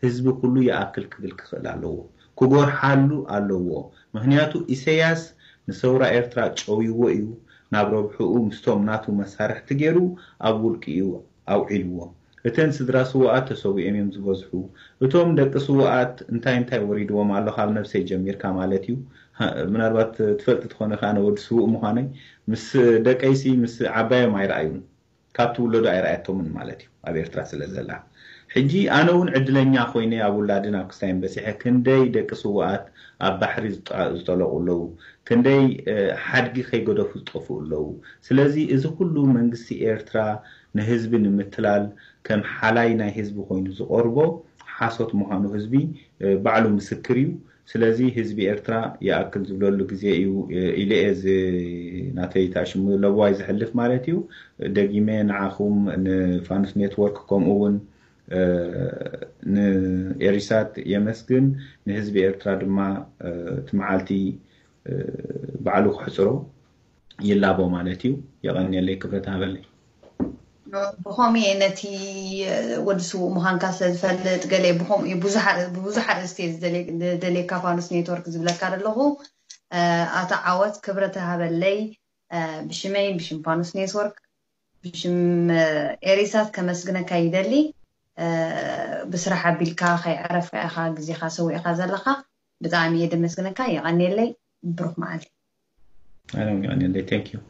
ህዝቢ ኩሉ ይኣክል ክብል ክኽእል ኣለዎ። ክጎርሓሉ ኣለዎ። ምክንያቱ ኢሰያስ ንሰውራ ኤርትራ ጨውይዎ እዩ። ናብ ረብሕኡ ምስቶም ናቱ መሳርሕቲ ገይሩ ኣብ ውልቂ እዩ ኣውዒልዎ። እተን ስድራ ስውኣት ተሰዊኦም እዮም ዝበዝሑ። እቶም ደቂ ስውኣት እንታይ እንታይ ወሪድዎም ኣሎ ካብ ነብሰይ ጀሚርካ ማለት እዩ። ምናልባት ትፈልጢ ትኾነ ከኣ ወዲ ስውእ ምዃነይ ምስ ደቀይሲ ምስ ዓባዮም ኣይረኣዩን። ካብ ትውለዶ ኣይረኣየቶምን ማለት እዩ ኣብ ኤርትራ ስለ ዘላ። ሕጂ ኣነ እውን ዕድለኛ ኮይነ ኣብ ውላድን ኣብ ክስታይን በጺሐ ክንደይ ደቂ ስውኣት ኣብ ባሕሪ ዝጠለቑ ኣለዉ። ክንደይ ሓድጊ ከይገደፉ ዝጠፍኡ ኣለዉ። ስለዚ እዚ ኩሉ መንግስቲ ኤርትራ ንህዝቢ ንምትላል ከም ሓላይ ናይ ህዝቢ ኮይኑ ዝቐርቦ ሓሶት ምዃኑ ህዝቢ ባዕሉ ምስክር እዩ። ስለዚ ህዝቢ ኤርትራ ይኣክል ዝብለሉ ግዜ እዩ ኢለ እየ እዚ ናተይ ታሽሙ ለብዋይ ዝሕልፍ ማለት እዩ። ደጊመ ንዓኹም ንፋኑስ ኔትወርክ ከምኡ እውን ንኤሪሳት የመስግን። ንህዝቢ ኤርትራ ድማ እቲ መዓልቲ ባዕሉ ክሕፅሮ ይላቦ ማለት እዩ። የቐንየለይ፣ ክብረት ሃበለይ። ብኸምኡ እየ ነቲ ወዲ ስውእ ምዃንካ ስለ ዝፈልጥ ገለ ብኸምኡ እዩ ብዙሕ ኣርእስቲ እየ ዝደልየካ ፋኑስ ኔትወርክ ዝብለካ ዘለኹ። ኣቶ ዓወት ክብረት ሃበለይ ብሽመይ ብሽም ፋኑስ ኔትወርክ ብሽም ኤሪሳት ከመስግነካ ይደሊ። ብስራሕ ኣቢልካ ከይዕረፍካ ኢኻ ግዜኻ ሰዊእካ ዘለኻ። ብጣዕሚ እየ ደመስግነካ። የቐንየለይ። ብሩኽ መዓልቲ። ኣነ እውን የቐንየለይ። Thank you።